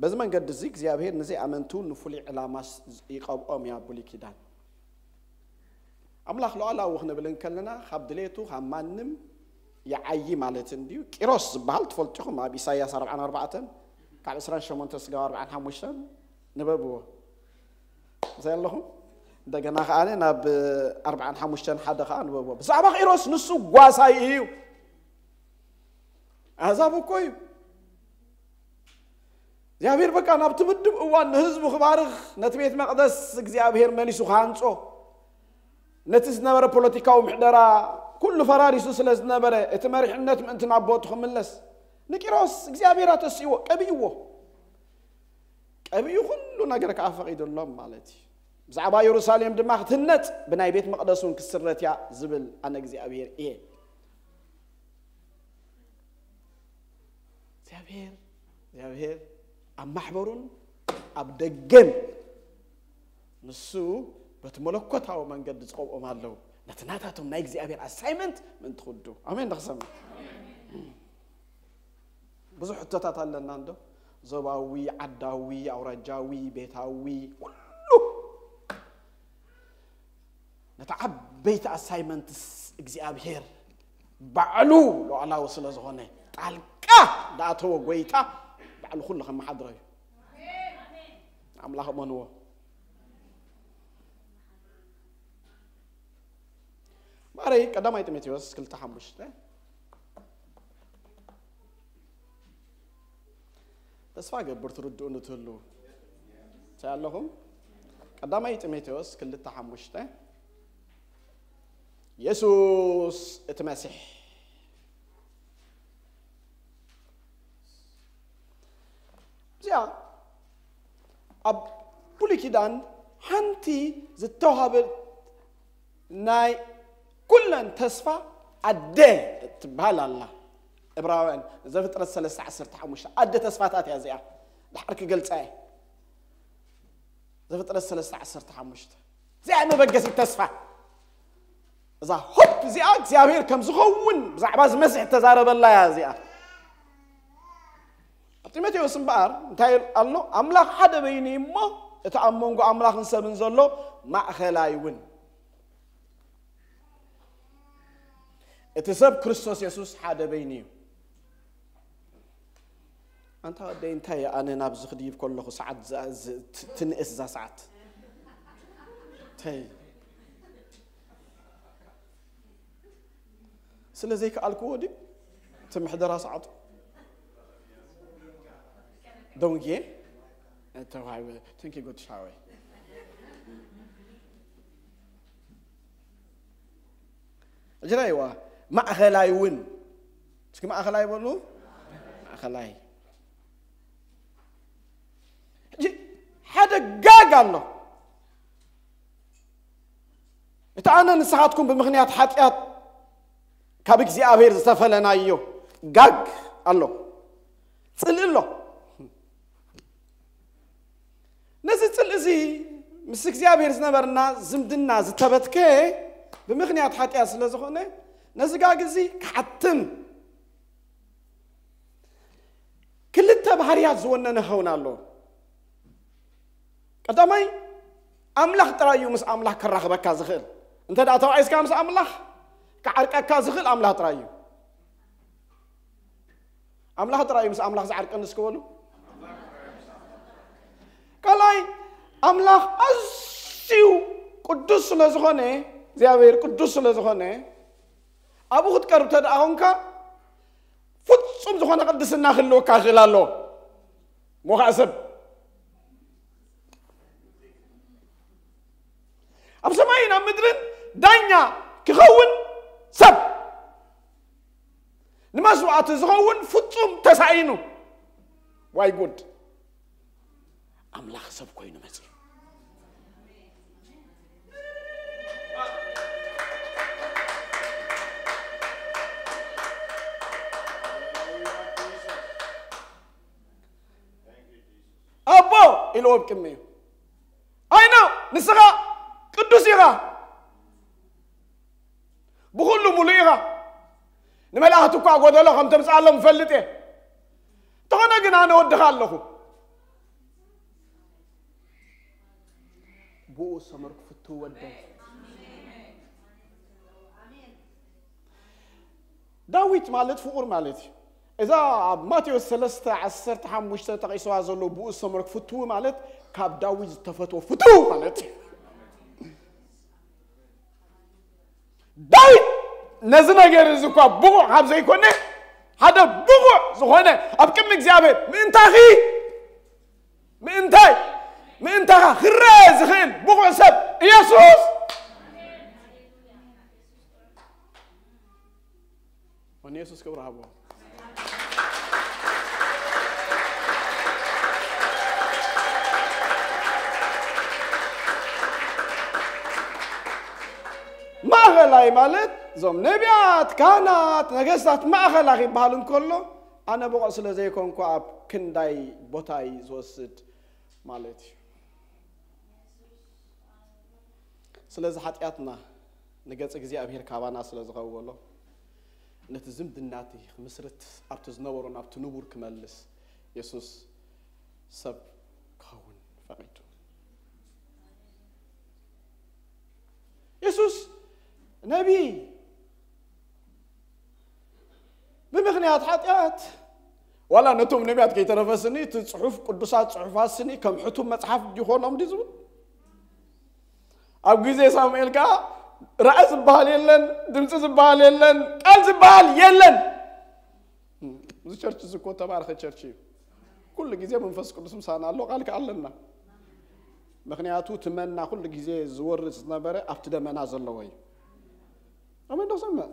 በዚ መንገዲ እዚ እግዚኣብሔር ንዘይኣመንቱ ንፍሉይ ዕላማ ስ-፣ ይቐብኦም እያ ብሉይ ኪዳን። ኣምላኽ ሉዓላዊ ክንብል እንከለና ካብ ድሌቱ ካብ ማንም ይዓዪ ማለት እንድዩ። ቂሮስ ዝበሃል ትፈልጡ ኢኹም፣ ኣብ ኢሳይያስ ኣርብዓን ኣርባዕተን ካብ ዕስራን ሸሞንተ ስጋብ ኣርብዓን ሓሙሽተን ንበብዎ። እንታይ ኣለኹም? እንደገና ከኣ ናብ ኣርብዓን ሓሙሽተን ሓደ ከኣ ንበብዎ። ብዛዕባ ቂሮስ ንሱ ጓሳይ እዩ። ኣህዛብ እኮ እዩ። እግዚኣብሔር በቃ ናብቲ ምድብ እዋን ንህዝቡ ክባርኽ ነቲ ቤት መቕደስ እግዚኣብሔር መሊሱ ክሃንጾ፣ ነቲ ዝነበረ ፖለቲካዊ ምሕደራ ኩሉ ፈራሪሱ ስለ ዝነበረ፣ እቲ መሪሕነት ምእንቲ ናብ ቦቱ ክምለስ ንቂሮስ እግዚኣብሔር ኣተስእዎ፣ ቀቢእዎ። ቀቢኡ ኩሉ ነገር ከኣ ፈቒዱሎም ማለት እዩ። ብዛዕባ የሩሳሌም ድማ ክትህነጽ፣ ብናይ ቤት መቕደስ እውን ክስረት እያ ዝብል ኣነ እግዚኣብሔር እየ። እግዚኣብሔር፣ እግዚኣብሔር ኣብ ማሕበሩን ኣብ ደገን ንሱ በቲ መለኮታዊ መንገዲ ዝቐብኦም ኣለዉ። ነቲ ናታቶም ናይ እግዚኣብሔር ኣሳይመንት ምእንቲ ክውድኡ። ኣሜን። ንኽሰምዕ ብዙሕ ሕቶታት ኣለና እንዶ፣ ዞባዊ፣ ዓዳዊ፣ ኣውራጃዊ፣ ቤታዊ፣ ኩሉ ነቲ ዓበይቲ ኣሳይመንትስ እግዚኣብሔር ባዕሉ ሉዓላዊ ስለ ዝኾነ፣ ጣልቃ ዳኣተወ ጎይታ ባዕሉ ኩሉ ከመሓድሮ እዩ። ኣምላኽ እመንዎ። ማረይ ቀዳማይ ጢሞቴዎስ ክልተ ሓሙሽተ። ተስፋ ገብር ትርድኡ ንትህሉ እንታይ ኣለኹም? ቀዳማይ ጢሞቴዎስ ክልተ ሓሙሽተ። የሱስ እቲ መሲሕ። እዚኣ ኣብ ብሉይ ኪዳን ሓንቲ ዝተዋሃበት ናይ ኩለን ተስፋ ኣደ እትበሃል ኣላ። ዕብራውያን፣ ዘፍጥረት ሰለስተ ዓሰርተ ሓሙሽተ፣ ኣደ ተስፋታት እያ እዚኣ። ድሓር ክገልጻ እየ። ዘፍጥረት ሰለስተ ዓሰርተ ሓሙሽተ፣ እዚኣ እያ መበገሲት ተስፋ። እዛ ሆፕ እዚኣ እግዚኣብሔር ከም ዝኸውን ብዛዕባ እዚ መሲሕ እተዛረበላ እያ እዚኣ። ኣብ ጢሞቴዎስ እምበኣር እንታይ ኣሎ? ኣምላኽ ሓደ በይኑ እዩ እሞ፣ እቲ ኣብ መንጎ ኣምላኽን ሰብን ዘሎ ማእኸላይ እውን። እቲ ሰብ ክርስቶስ የሱስ ሓደ በይኑ እዩ። ኣንታ ወደይ፣ እንታይ እየ ኣነ ናብዚ ክድይብ ከለኹ ሰዓት ዝ- ዝ- ት- ትንእስ እዛ ሰዓት? ተይ፣ ስለ ዘይከኣልክዎ ድዩ እቲ ምሕደራ ሰዓቱ? ደንጌ ተዋሂበ። Thank you good shower። ሕጂ ራእይዋ፣ ማእኸላይ እውን። እስኪ ማእኸላይ በሉ። ማእኸላይ። ሕጂ ሓደ ጋግ ኣሎ። እቲ ኣነ ንስኻትኩም ብምኽንያት ሓጢኣት ካብ እግዚኣብሔር ዝተፈለናዮ ጋግ ኣሎ። ጽልኢ ኣሎ። ነዚ ጽልኢ እዚ ምስ እግዚኣብሔር ዝነበርና ዝምድና ዝተበትከ ብምኽንያት ሓጢኣት ስለ ዝኾነ፣ ነዚ ጋግ እዚ ክሓትም ክልተ ባህርያት ዝወነነ ክኸውን ኣለዎ። ቀዳማይ፣ ኣምላኽ ጥራይ እዩ ምስ ኣምላኽ ከራኽበካ ዝኽእል። እንተ ደኣ ተባኢስካ ምስ ኣምላኽ ክዓርቀካ ዝኽእል ኣምላኽ ጥራይ እዩ። ኣምላኽ ጥራይ እዩ ምስ ኣምላኽ ዝዓርቀኒ እስኪ በሉ። ካልኣይ፣ ኣምላኽ ኣዝዩ ቅዱስ ስለ ዝኾነ፣ እግዚኣብሔር ቅዱስ ስለ ዝኾነ፣ ኣብኡ ክትቀርብ እንተ ደኣ ኾንካ፣ ፍጹም ዝኾነ ቅድስና ክህልወካ ይኽእል ኣሎ። ሞኻእ ሰብ ኣብ ሰማይን ኣብ ምድርን ዳኛ ክኸውን፣ ሰብ ንመስዋዕቲ ዝኸውን ፍጹም ተሳኢኑ። ዋይ ጉድ! ኣምላኽ ሰብ ኮይኑ መጺኡ። ኣቦ ኢልዎ ኣብ ቅድሚኡ፣ ኣይኖ፣ ንስኻ ቅዱስ ኢኻ፣ ብኹሉ ሙሉእ ኢኻ። ንመላእኽቲ እኳ ጎደሎ ከም ተምጽኣሎም እፈልጥ እየ። እንተኾነ ግን ኣነ ወድኻ ኣለኹ። ብኡ ሰመርኩ ፍትው ወደይ። ዳዊት ማለት ፍቑር ማለት እዩ። እዛ ኣብ ማቴዎስ ሰለስተ ዓሰርተ ሓሙሽተ ተጠቒስዋ ዘሎ ብኡ ሰመርኩ ፍትው ማለት ካብ ዳዊት ዝተፈትወ ፍትው ማለት እዩ። ዳዊት ነዚ ነገር እዚ እኳ ብቑዕ ካብ ዘይኮነ፣ ሓደ ብቑዕ ዝኾነ ኣብ ቅድሚ እግዚኣብሔር ምእንታኺ፣ ምእንታይ፣ ምእንታኻ ክረአ ዝኽእል ብቑዕ ሰብ ኢየሱስ። ንየሱስ ክብሪ ሃቦ። ማእኸላይ ማለት እዞም ነቢያት፣ ካህናት፣ ነገስታት ማእኸላ ይበሃል እንከሎ፣ ኣነ ብቑዕ ስለ ዘይኮንኩ ኣብ ክንዳይ ቦታይ ዝወስድ ማለት እዩ። ስለዚ ሓጢኣትና ንገጽ እግዚኣብሔር ካባና ስለ ዝኸወሎ፣ ነቲ ዝምድና እቲ ክምስርት ኣብቲ ዝነበሮ ናብቲ ንቡር ክመልስ የሱስ ሰብ ክኸውን ፈቒዱ። የሱስ ነቢይ ብምኽንያት ሓጢኣት ዋላ ነቶም ነቢያት ከይተረፈስኒ እቲ ጽሑፍ ቅዱሳት ጽሑፋት ስኒ ከም ሕቱም መጽሓፍ ይኾኖም ድዩ ዝብል? ኣብ ግዜ ሳሙኤል ከዓ ራእይ ዝበሃል የለን፣ ድምፂ ዝበሃል የለን፣ ቃል ዝበሃል የለን። እዚ ቸርች እዚ እኮ ተባረኸ ቸርች እዩ። ኩሉ ግዜ መንፈስ ቅዱስ ምሳና ኣሎ፣ ቃል ከዓ ኣለና። ምክንያቱ እቲ መና ኩሉ ግዜ ዝወርድ ዝነበረ ኣብቲ ደመና ዘለዎ እዩ። ኣሜን ዶ ሰምዕ?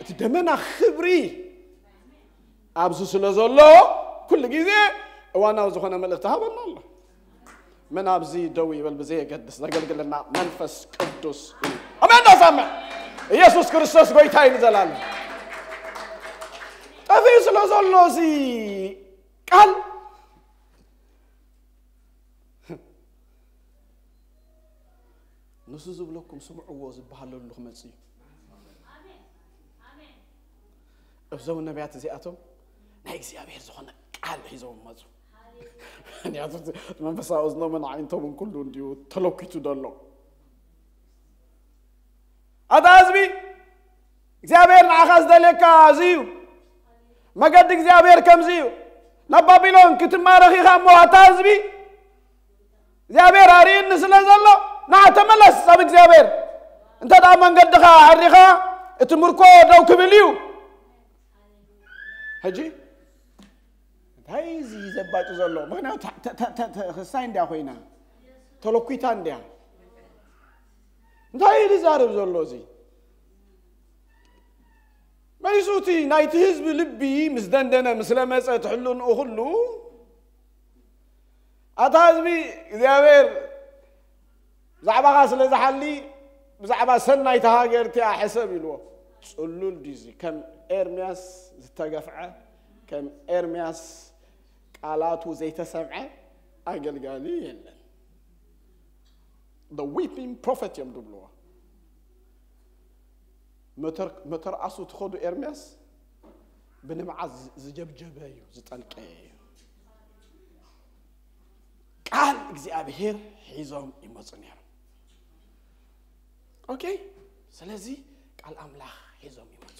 እቲ ደመና ክብሪ ኣብዚ ስለ ዘሎ ኩሉ ግዜ እዋናዊ ዝኾነ መልእኽቲ ሃበና ኣሎ። መን ኣብዚ ደው ይበል ብዘየገድስ ዘገልግለና መንፈስ ቅዱስ እዩ። ኣሜን ዶ ሰምዕ? ኢየሱስ ክርስቶስ ጎይታ እዩ ንዘላለም። ጠፊኡ ስለ ዘሎ እዚ ቃል ንሱ ዝብለኩም ስምዕዎ ዝበሃለሉ ክመጽእ እዩ። እዞም ነቢያት እዚኣቶም ናይ እግዚኣብሔር ዝኾነ ቃል ሒዞም መጹ። ምክንያቱ እቲ መንፈሳዊ እዝኖምን ዓይንቶምን ኩሉ እንዲዩ ተለኪቱ ዘሎ። ኣታ ህዝቢ እግዚኣብሔር ንዓኻ ዝደልየካ እዚ እዩ። መገዲ እግዚኣብሔር ከምዚ እዩ። ናብ ባቢሎን ክትማረኽ ኢኻ እሞ ኣታ ህዝቢ እግዚኣብሔር ኣርእየኒ ስለ ዘሎ ንዓ ተመለስ ኣብ እግዚኣብሔር። እንተ ደኣ መንገድኻ ኣሪኻ እቲ ምርኮ ደው ክብል እዩ። ሕጂ እንታይ እዚ ዘባጭ ዘሎ? ምክንያቱ ተ- ተ- ተ- ተ- ክሳይ እንድያ ኮይና ተለኩይታ እንድያ። እንታይ እዩ ዝዛረብ ዘሎ እዚ? መሊሱ እቲ ናይቲ ህዝቢ ልቢ ምስ ደንደነ ምስ ለመጸ እቲ ሕልንኡ ኩሉ ኣታ ህዝቢ እግዚኣብሔር ብዛዕባኻ ስለ ዝሓሊ ብዛዕባ ሰናይታ ሃገር እቲኣ ሕሰብ ኢልዎ። ጽሉል ድዩ እዚ? ከም ኤርምያስ ዝተገፍዐ ከም ኤርምያስ ቃላቱ ዘይተሰምዐ ኣገልጋሊ የለን። The weeping prophet እዮም ድብልዎ። መተርኣሱ ትኸዱ ኤርምያስ ብንብዓት ዝጀብጀበ እዩ ዝጠልቀየ እዩ። ቃል እግዚኣብሔር ሒዞም ይመፁ ነይሮም። ኦኬ። ስለዚ ቃል ኣምላኽ ሒዞም ይመፁ።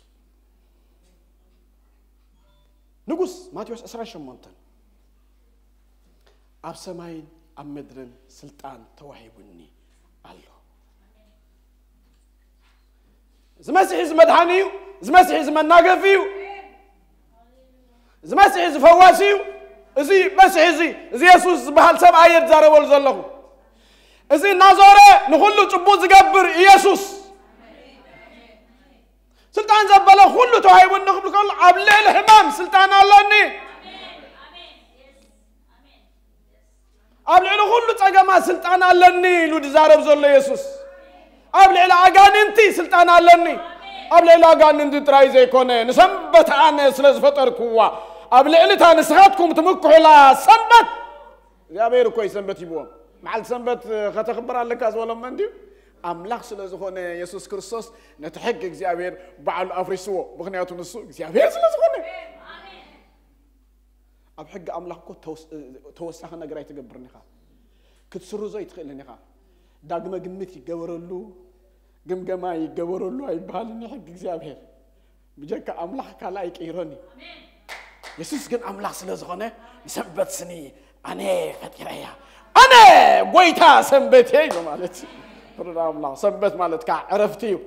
ንጉስ ማቴዎስ ዕስራን ሸሞንተን ኣብ ሰማይን ኣብ ምድርን ስልጣን ተዋሂቡኒ ኣሎ። እዚ መሲሕ እዚ መድሓኒ እዩ። እዚ መሲሕ እዚ መናገፊ እዩ። እዚ መሲሕ እዚ ፈዋሲ እዩ። እዚ መሲሕ እዚ እዚ የሱስ ዝበሃል ሰብኣይ እየ ዝዛረበሉ ዘለኹ። እዚ እናዞረ ንኹሉ ጽቡቕ ዝገብር ኢየሱስ ስልጣን ዘበለ ኩሉ ተዋሂቡኒ ክብል ከሎ ኣብ ልዕሊ ሕማም ስልጣን ኣለኒ። ኣብ ልዕሊ ኩሉ ጸገማት ስልጣን ኣለኒ ኢሉ ዝዛረብ ዘሎ የሱስ ኣብ ልዕሊ ኣጋንንቲ ስልጣን ኣለኒ። ኣብ ልዕሊ ኣጋንንቲ ጥራይ ዘይኮነ ንሰንበት ኣነ ስለ ዝፈጠርክዋ ኣብ ልዕሊ እታ ንስኻትኩም ትምክሑላ ሰንበት እግዚኣብሔር እኮ እዩ ሰንበት ሂብዎም። መዓልቲ ሰንበት ከተኽብር ኣለካ ዝበሎም መን ድዩ? ኣምላኽ ስለ ዝኾነ የሱስ ክርስቶስ ነቲ ሕጊ እግዚኣብሔር ባዕሉ ኣፍሪስዎ። ምኽንያቱ ንሱ እግዚኣብሔር ስለ ዝኾነ። ኣብ ሕጊ ኣምላኽ እኮ ተወሳኺ ነገር ኣይትገብርን ኢኻ። ክትስርዞ ኣይትኽእልን ኢኻ። ዳግመ ግምት ይገበረሉ፣ ግምገማ ይገበረሉ ኣይበሃልን እዩ ሕጊ እግዚኣብሔር። ብጀካ ኣምላኽ ካልእ ኣይቅይሮን እዩ። የሱስ ግን ኣምላኽ ስለ ዝኾነ ንሰንበት ስኒ ኣነ ፈጢረያ፣ ኣነ ጎይታ ሰንበት እየ ኢሉ ማለት እዩ። ፍርድ ኣምላኽ ሰንበት ማለት ከዓ ዕረፍቲ እዩ።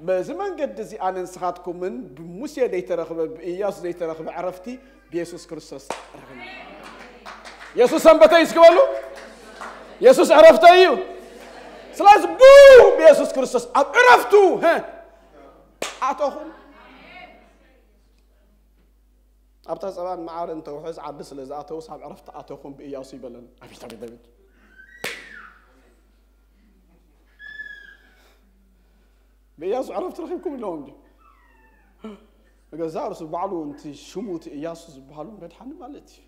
በዚ መንገዲ እዚ ኣነ ንስኻትኩምን ብሙሴ ዘይተረኽበ ብእያሱ ዘይተረኽበ ዕረፍቲ ብየሱስ ክርስቶስ ረኺብና። የሱስ ሰንበተይ እስኪ በሉ። የሱስ ዕረፍተይ እዩ። ስለዚ ቡ ብየሱስ ክርስቶስ ኣብ ዕረፍቱ ኣተኹም። ኣብታ ጸባን መዓርን ተውሕዝ ዓዲ ስለ ዝኣተውስ ኣብ ዕረፍቲ ኣተኹም ብእያሱ ይበለን። ኣቤት ኣቤት ኣቤት። ብእያሱ ዕረፍቲ ረኺብኩም ኣለዎም ድዩ? ገዛ ርሱ ባዕሉ፣ እቲ ሽሙ እቲ እያሱ ዝበሃሉ መድሓኒ ማለት እዩ።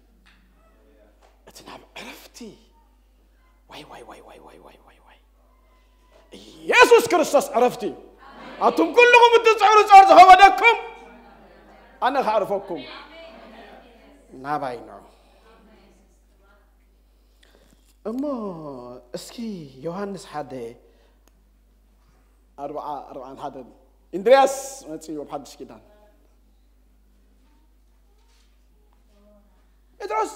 እቲ ናብ ዕረፍቲ፣ ዋይ ዋይ ዋይ ዋይ ዋይ ዋይ ዋይ ዋይ ኢየሱስ ክርስቶስ ዕረፍቲ እዩ። ኣቱም ኩልኹም እትጽዕሩ ጾር ዝኸበደኩም፣ ኣነ ከዕርፈኩም። ናባይ ንዑ። እሞ እስኪ ዮሃንስ ሓደ ኣርብዓ ኣርብዓን ሓደን፣ እንድርያስ መጺኡ ኣብ ሓድሽ ኪዳን፣ ጴጥሮስ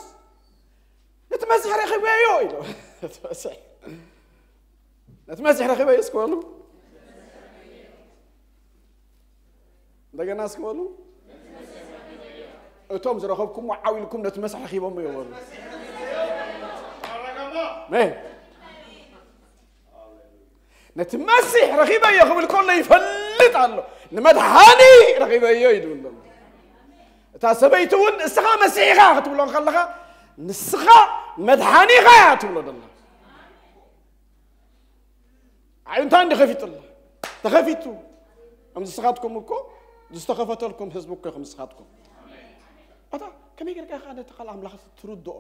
ነቲ መሲሕ ረኺበዮ ኢሉ። ነቲ መሲሕ፣ ነቲ መሲሕ ረኺበዮ እስኪ በሉ። እንደገና እስኪ በሉ። እቶም ዝረኸብኩምዎ ዓው ኢልኩም ነቲ መሲሕ ረኺቦምዮ በሉ። ኣሜን። ነቲ መሲሕ ረኺበዮ ክብል ከሎ ይፈልጥ ኣሎ። ንመድሓኒ ረኺበዮ እዩ ዝብል ዘሎ። እታ ሰበይቲ እውን እስኻ መሲሕ ኢኻ ክትብሎ ከለኻ፣ ንስኻ መድሓኒ ኢኻ እያ ትብሎ ዘላ። ኣዒንታ እንዲ ከፊትላ፣ ተኸፊቱ። ከም ንስኻትኩም እኮ ዝተኸፈተልኩም ህዝቢ እኮ ኢኹም ንስኻትኩም። ኣታ ከመይ ጌርካ ኢኻ ነቲ ቃል ኣምላኽ ትርድኦ?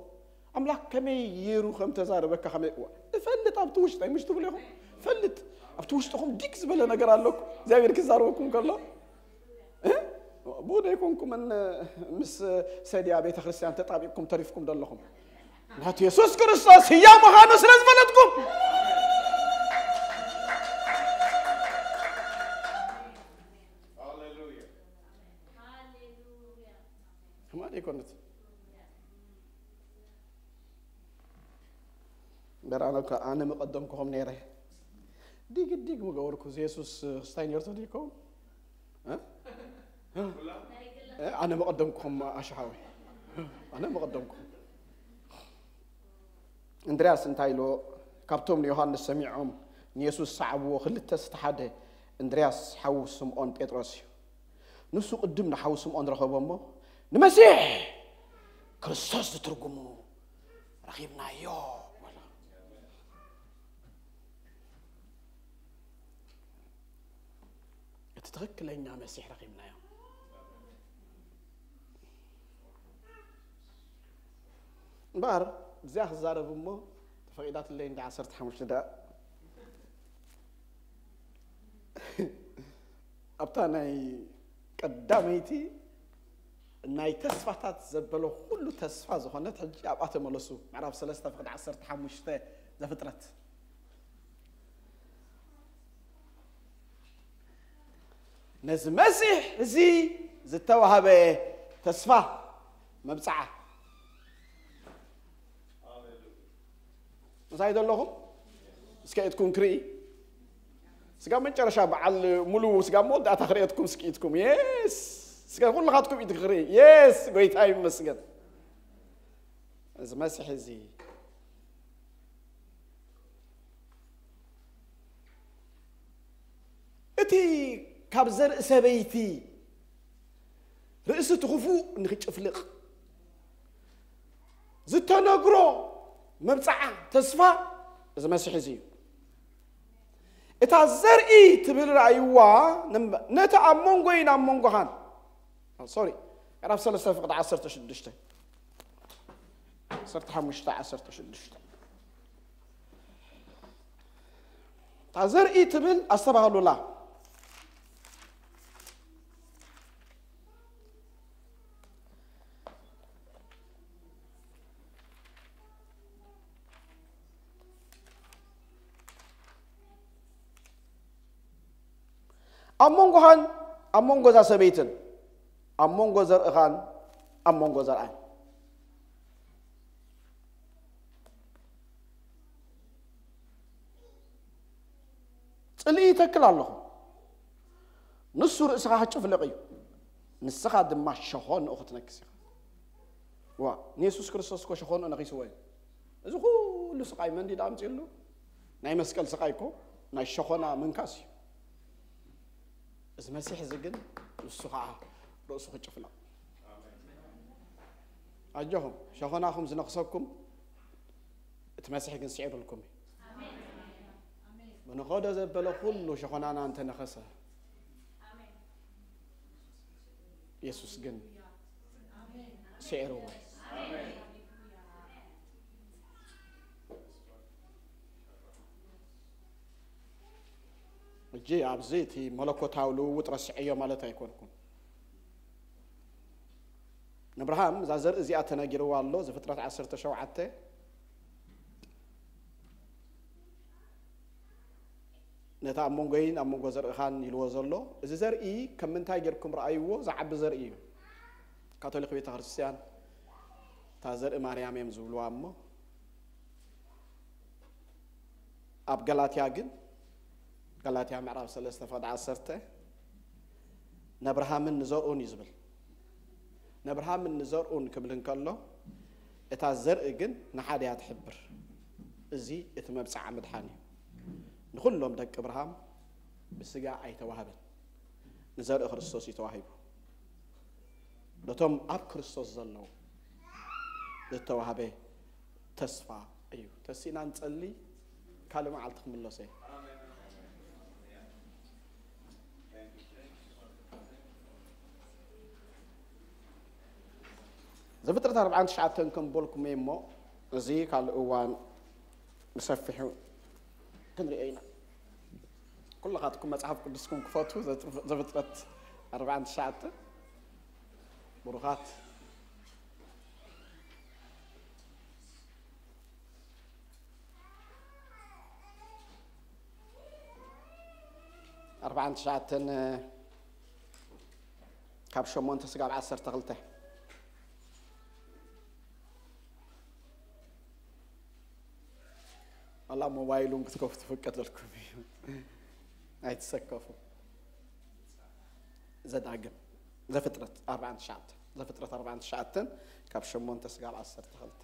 ኣምላኽ ከመይ ገይሩ ከም ተዛረበካ ከመይ? እዋ፣ እፈልጥ ኣብቲ ውሽጠይ፣ ምሽ ትብሉ ኢኹም? እፈልጥ ኣብቲ ውሽጥኹም ዲግ ዝበለ ነገር ኣለኩም። እግዚኣብሔር ክዛረበኩም ከሎ፣ እ? ብኡ ደይኮንኩምን ምስ ሰድያ ቤተ ክርስቲያን ተጣቢቅኩም ተሪፍኩም ዘለኹም? ናቱ የሱስ ክርስቶስ ህያው ምዃኑ ስለ ዝፈለጥኩም። ከማን ይኮነት። እምበር ኣነ እኮ፣ ኣነ ምቐደምኩኹም ነይረ። ዲግ ዲግ ምገበርኩ፣ እዚ የሱስ ክስታይ ነርቶ ዲኮ? እ? እ? ኣነ ምቐደምኩኹም ኣሽሓዊ። ኣነ ምቐደምኩኹም። እንድርያስ እንታይ ኢልዎ? ካብቶም ንዮሃንስ ሰሚዖም ንየሱስ ዝሰዓብዎ ክልተ ዝቲ ሓደ እንድርያስ ሓዉ ስምዖን ጴጥሮስ እዩ። ንሱ ቅድም ንሓዉ ስምዖን ረኸቦ እሞ፣ ንመሲሕ ክርስቶስ ዝትርጉሙ ረኺብናዮ በሎ። እቲ ትኽክለኛ መሲሕ ረኺብናዮ። እምበኣር እዚኣ ክዛረብ እሞ ተፈቒዳትለይ እንዲ ዓሰርተ ሓሙሽተ ደኣ ኣብታ ናይ ቀዳመይቲ ናይ ተስፋታት ዘበለ ኩሉ ተስፋ ዝኾነት ሕጂ ኣብኣ ተመለሱ። ምዕራፍ ሰለስተ ፍቕዲ ዓሰርተ ሓሙሽተ ዘፍጥረት። ነዚ መሲሕ እዚ ዝተዋህበ ተስፋ መብጽዓ ምሳይ ዘለኹም እስከ ኢድኩም ክርኢ። ስጋ መጨረሻ በዓል ሙሉ ስጋ መወዳእታ ክርእየትኩም እስኪ ኢድኩም። የስ፣ ስጋ ኩልኻትኩም ኢድ ክርኢ። የስ፣ ጎይታ ይመስገን። እዚ መሲሕ እዚ እቲ ካብ ዘርኢ ሰበይቲ ርእሲ እቲ ክፉእ ንኽጭፍልቕ ዝተነግሮ መብጽዓ ተስፋ እዚ መሲሕ እዚ እዩ። እታ ዘርኢ ትብል ራእይዋ ነቲ ኣብ መንጎይን ኣብ መንጎኻን፣ ሶሪ፣ ምዕራፍ ሰለስተ ፍቕዲ ዓሰርተ ሽዱሽተ፣ ዓሰርተ ሓሙሽተ፣ ዓሰርተ ሽዱሽተ። እታ ዘርኢ ትብል ኣስተባህሉላ። ኣብ መንጎኻን ኣብ መንጎ እዛ ሰበይትን፣ ኣብ መንጎ ዘርእኻን ኣብ መንጎ ዘርኣን ጽልኢ ይተክል ኣለኹ። ንሱ ርእስኻ ክጭፍልቕ እዩ፣ ንስኻ ድማ ሸኾንኡ ክትነክስ ኢኻ። ዋ፣ ንየሱስ ክርስቶስ እኮ ሸኾንኡ ነኺስዎ እዩ። እዚ ኩሉ ስቓይ መን ድዩ ኣምጺኡሉ? ናይ መስቀል ስቓይ እኮ ናይ ሸኾና ምንካስ እዩ። እዚ መሲሕ እዚ ግን ንሱ ኸዓ ርእሱ ክጭፍልቕ። ኣጆኹም፣ ሸኾናኹም ዝነኽሰኩም፣ እቲ መሲሕ ግን ስዒሩልኩም እዩ። ብንኸዶ ዘበለ ኩሉ ሸኾናና እንተነኸሰ፣ የሱስ ግን ስዒርዎ። እጂ ኣብዚ እቲ መለኮታዊ ልውውጥ ረስዐዮ ማለት ኣይኮንኩን። ንኣብርሃም እዛ ዘርኢ እዚኣ ተነጊርዋ ኣሎ። ዘፍጥረት ዓሰርተ ሸውዓተ፣ ነታ ኣብ መንጎይን ኣብ መንጎ ዘርእኻን ኢልዎ ዘሎ፣ እዚ ዘርኢ ከም ምንታይ ጌርኩም ረኣይዎ? ዝዓቢ ዘርኢ እዩ። ካቶሊክ ቤተ ክርስቲያን እታ ዘርኢ ማርያም እዮም ዝብልዋ እሞ፣ ኣብ ገላትያ ግን፣ ገላትያ ምዕራፍ ሰለስተ ፍቕዲ ዓሰርተ፣ ነብርሃምን ንዘርኡን እዩ ዝብል። ነብርሃምን ንዘርኡን ክብል እንከሎ፣ እታ ዘርኢ ግን ንሓደ እያ ትሕብር። እዚ እቲ መብጽዓ ምድሓን እዩ። ንኹሎም ደቂ እብርሃም ብስጋ ኣይተዋህበን፣ ንዘርኢ ክርስቶስ እዩ ተዋሂቡ። ነቶም ኣብ ክርስቶስ ዘለዉ ዝተዋህበ ተስፋ እዩ። ተሲእና ንጸሊ፣ ካልእ መዓልቲ ክምለሶ እየ። ዘፍጥረት ኣርባዓን ትሽዓተን ከም በልኩም እየ እሞ፣ እዚ ካልእ እዋን ብሰፊሑ ክንሪኦ ኢና። ኩልኻትኩም መጽሓፍ ቅዱስኩም ክፈቱ፣ ዘፍጥረት ኣርባዓን ትሽዓተን። ብሩኻት። ኣርባዓን ትሽዓተን፣ ካብ ሸሞንተ ስጋብ ዓሰርተ ክልተ። ዋላ ሞባይሉን ክትከፍቱ ፍቀደልኩም እዩ። ኣይትሰከፉ። ዘዳግም፣ ዘፍጥረት ኣርባዓን ትሽዓተን፣ ዘፍጥረት ኣርባዓን ትሽዓተን ካብ ሸሞንተ ስጋብ ዓሰርተ ክልተ።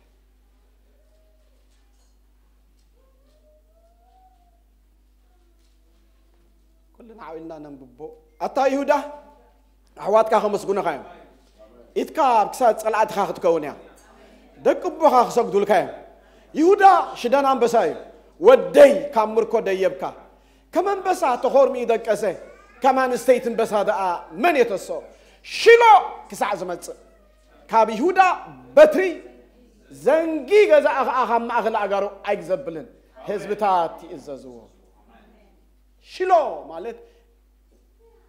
ኩልና ዓው ኢልና ነንብቦ። ኣታ ይሁዳ፣ ኣሕዋትካ ከመስግኑኻ እዮም። ኢድካ ኣብ ክሳድ ጸላእትኻ ክትከውን እያ። ደቂ ኣቦኻ ክሰግዱልካ እዮም። ይሁዳ ሽደን ኣንበሳ እዩ። ወደይ፣ ካብ ምርኮ ደየብካ። ከም ኣንበሳ ተኾርሚኡ ደቀሰ። ከም ኣንስተይቲ ኣንበሳ ደኣ መን የተስኦ? ሺሎ ክሳዕ ዝመጽእ፣ ካብ ይሁዳ በትሪ፣ ዘንጊ ገዛእ ኸኣ ካብ ማእከል ኣእጋሩ ኣይግዘብልን። ህዝብታት ይእዘዝዎ። ሺሎ ማለት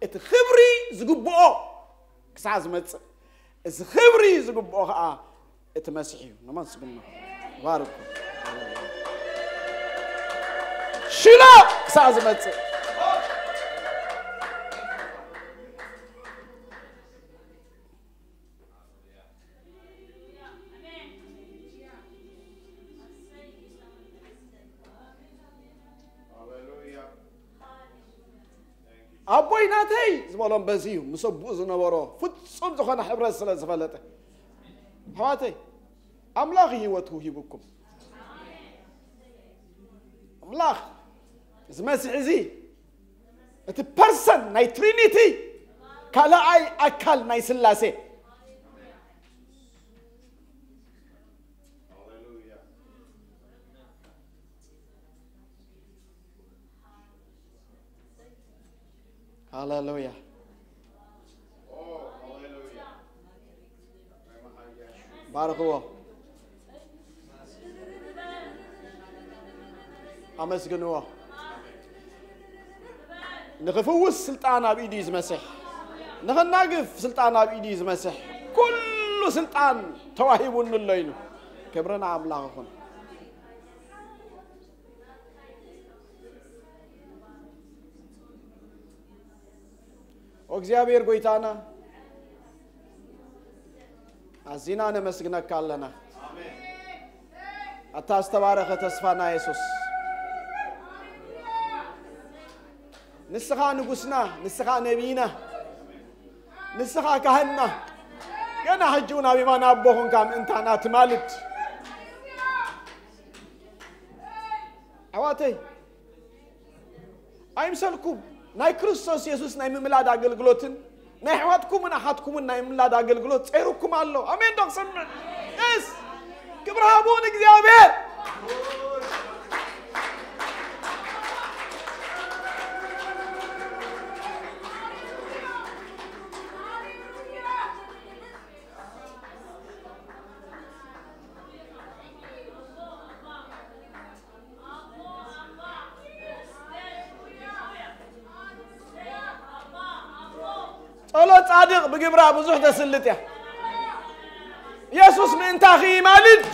እቲ ክብሪ ዝግብኦ ክሳዕ ዝመጽእ፣ እዚ ክብሪ ዝግብኦ ኸኣ እቲ መሲሕ እዩ። ነመስግኖ። ባርኩ። ሺሎ ክሳዕ ዝመጽእ። ኣቦይ ናተይ ዝበሎም በዚ እዩ፣ ምስ ኣቦኡ ዝነበሮ ፍጹም ዝኾነ ሕብረት ስለ ዝፈለጠ። ኣሕዋተይ፣ ኣምላኽ ህይወቱ ሂቡኩም። ኣምላኽ፣ እዚ መሲሕ እዚ፣ እቲ ፐርሰን ናይ ትሪኒቲ፣ ካልኣይ ኣካል ናይ ስላሴ። ሃሌሉያ። ባርኽዎ። ኣመስግንዎ። ንኽፍውስ ስልጣን ኣብ ኢዱ እዩ ዝመስሕ። ንኽናግፍ ስልጣን ኣብ ኢዱ እዩ ዝመስሕ። ኩሉ ስልጣን ተዋሂቡኒ ኣሎ ኢሉ። ክብሪ ንኣምላኽ ይኹን። ኦ እግዚኣብሔር ጎይታና፣ ኣዚና ነመስግነካ ኣለና። ኣታ ዝተባረኸ ተስፋና የሱስ፣ ንስኻ ንጉስና፣ ንስኻ ነቢይና፣ ንስኻ ካህንና፣ ገና ሕጂ እውን ኣብ የማን ኣቦ ኾንካ ምእንታና ትማልድ። ኣሕዋተይ፣ ኣይምሰልኩም፣ ናይ ክርስቶስ የሱስ ናይ ምምላድ ኣገልግሎትን ናይ ኣሕዋትኩምን ኣሓትኩምን ናይ ምላድ ኣገልግሎት ጸይሩኩም ኣሎ። ኣሜን ዶ ክሰምዕ? የስ! ክብሪ ሃቡ ንእግዚኣብሔር። ጸሎት ጻድቕ ብግብራ ብዙሕ ተስልጥ እያ። ኢየሱስ ምእንታኺ ይማልድ።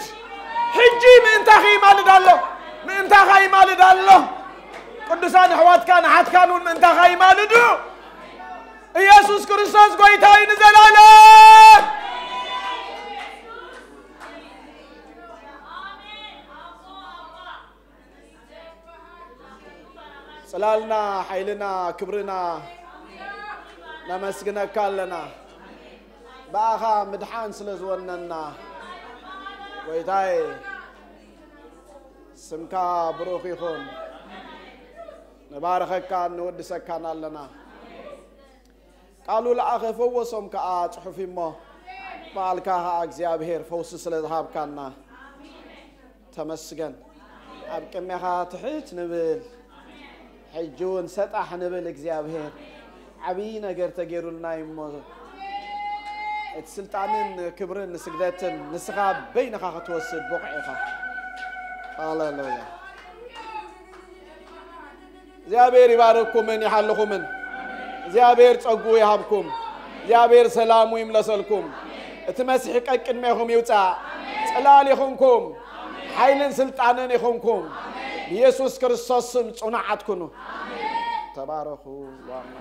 ሕጂ ምእንታኺ ይማልድ ኣሎ። ምእንታኻ ይማልድ ኣሎ። ቅዱሳን ኣሕዋትካ ንሓትካን እውን ምእንታኻ ይማልዱ። ኢየሱስ ክርስቶስ ጎይታ እዩ ንዘላለም። ጽላልና፣ ሓይልና፣ ክብርና ነመስግነካ ኣለና። ብኣኻ ምድሓን ስለ ዝወነና ጎይታይ፣ ስምካ ብሩኽ ይኹን። ንባርኸካን ንወድሰካን ኣለና። ቃሉ ለኣኸ፣ ፈወሶም ከኣ ጽሑፍ እሞ፣ በዓልካ ከኣ እግዚኣብሔር ፈውሲ ስለ ዝሃብካና ተመስገን። ኣብ ቅድሜኻ ትሕት ንብል፣ ሕጂ እውን ሰጣሕ ንብል። እግዚኣብሔር፣ ዓብዪ ነገር ተገይሩልና እዩ እሞ፣ እቲ ስልጣንን ክብርን ንስግደትን ንስኻ በይንኻ ክትወስድ ብቑዕ ኢኻ። ሃሌሉያ። እግዚኣብሔር ይባርክኩምን ይሓልኹምን። እግዚኣብሔር ጸጉኡ ይሃብኩም። እግዚኣብሔር ሰላሙ ይምለሰልኩም። እቲ መሲሕ ቀቅድሜኹም ይውጻእ። ጽላል ይኹንኩም። ሓይልን ስልጣንን ይኹንኩም። ብኢየሱስ ክርስቶስ ስም ጽኑዓት ኩኑ። ተባረኹ። ዋና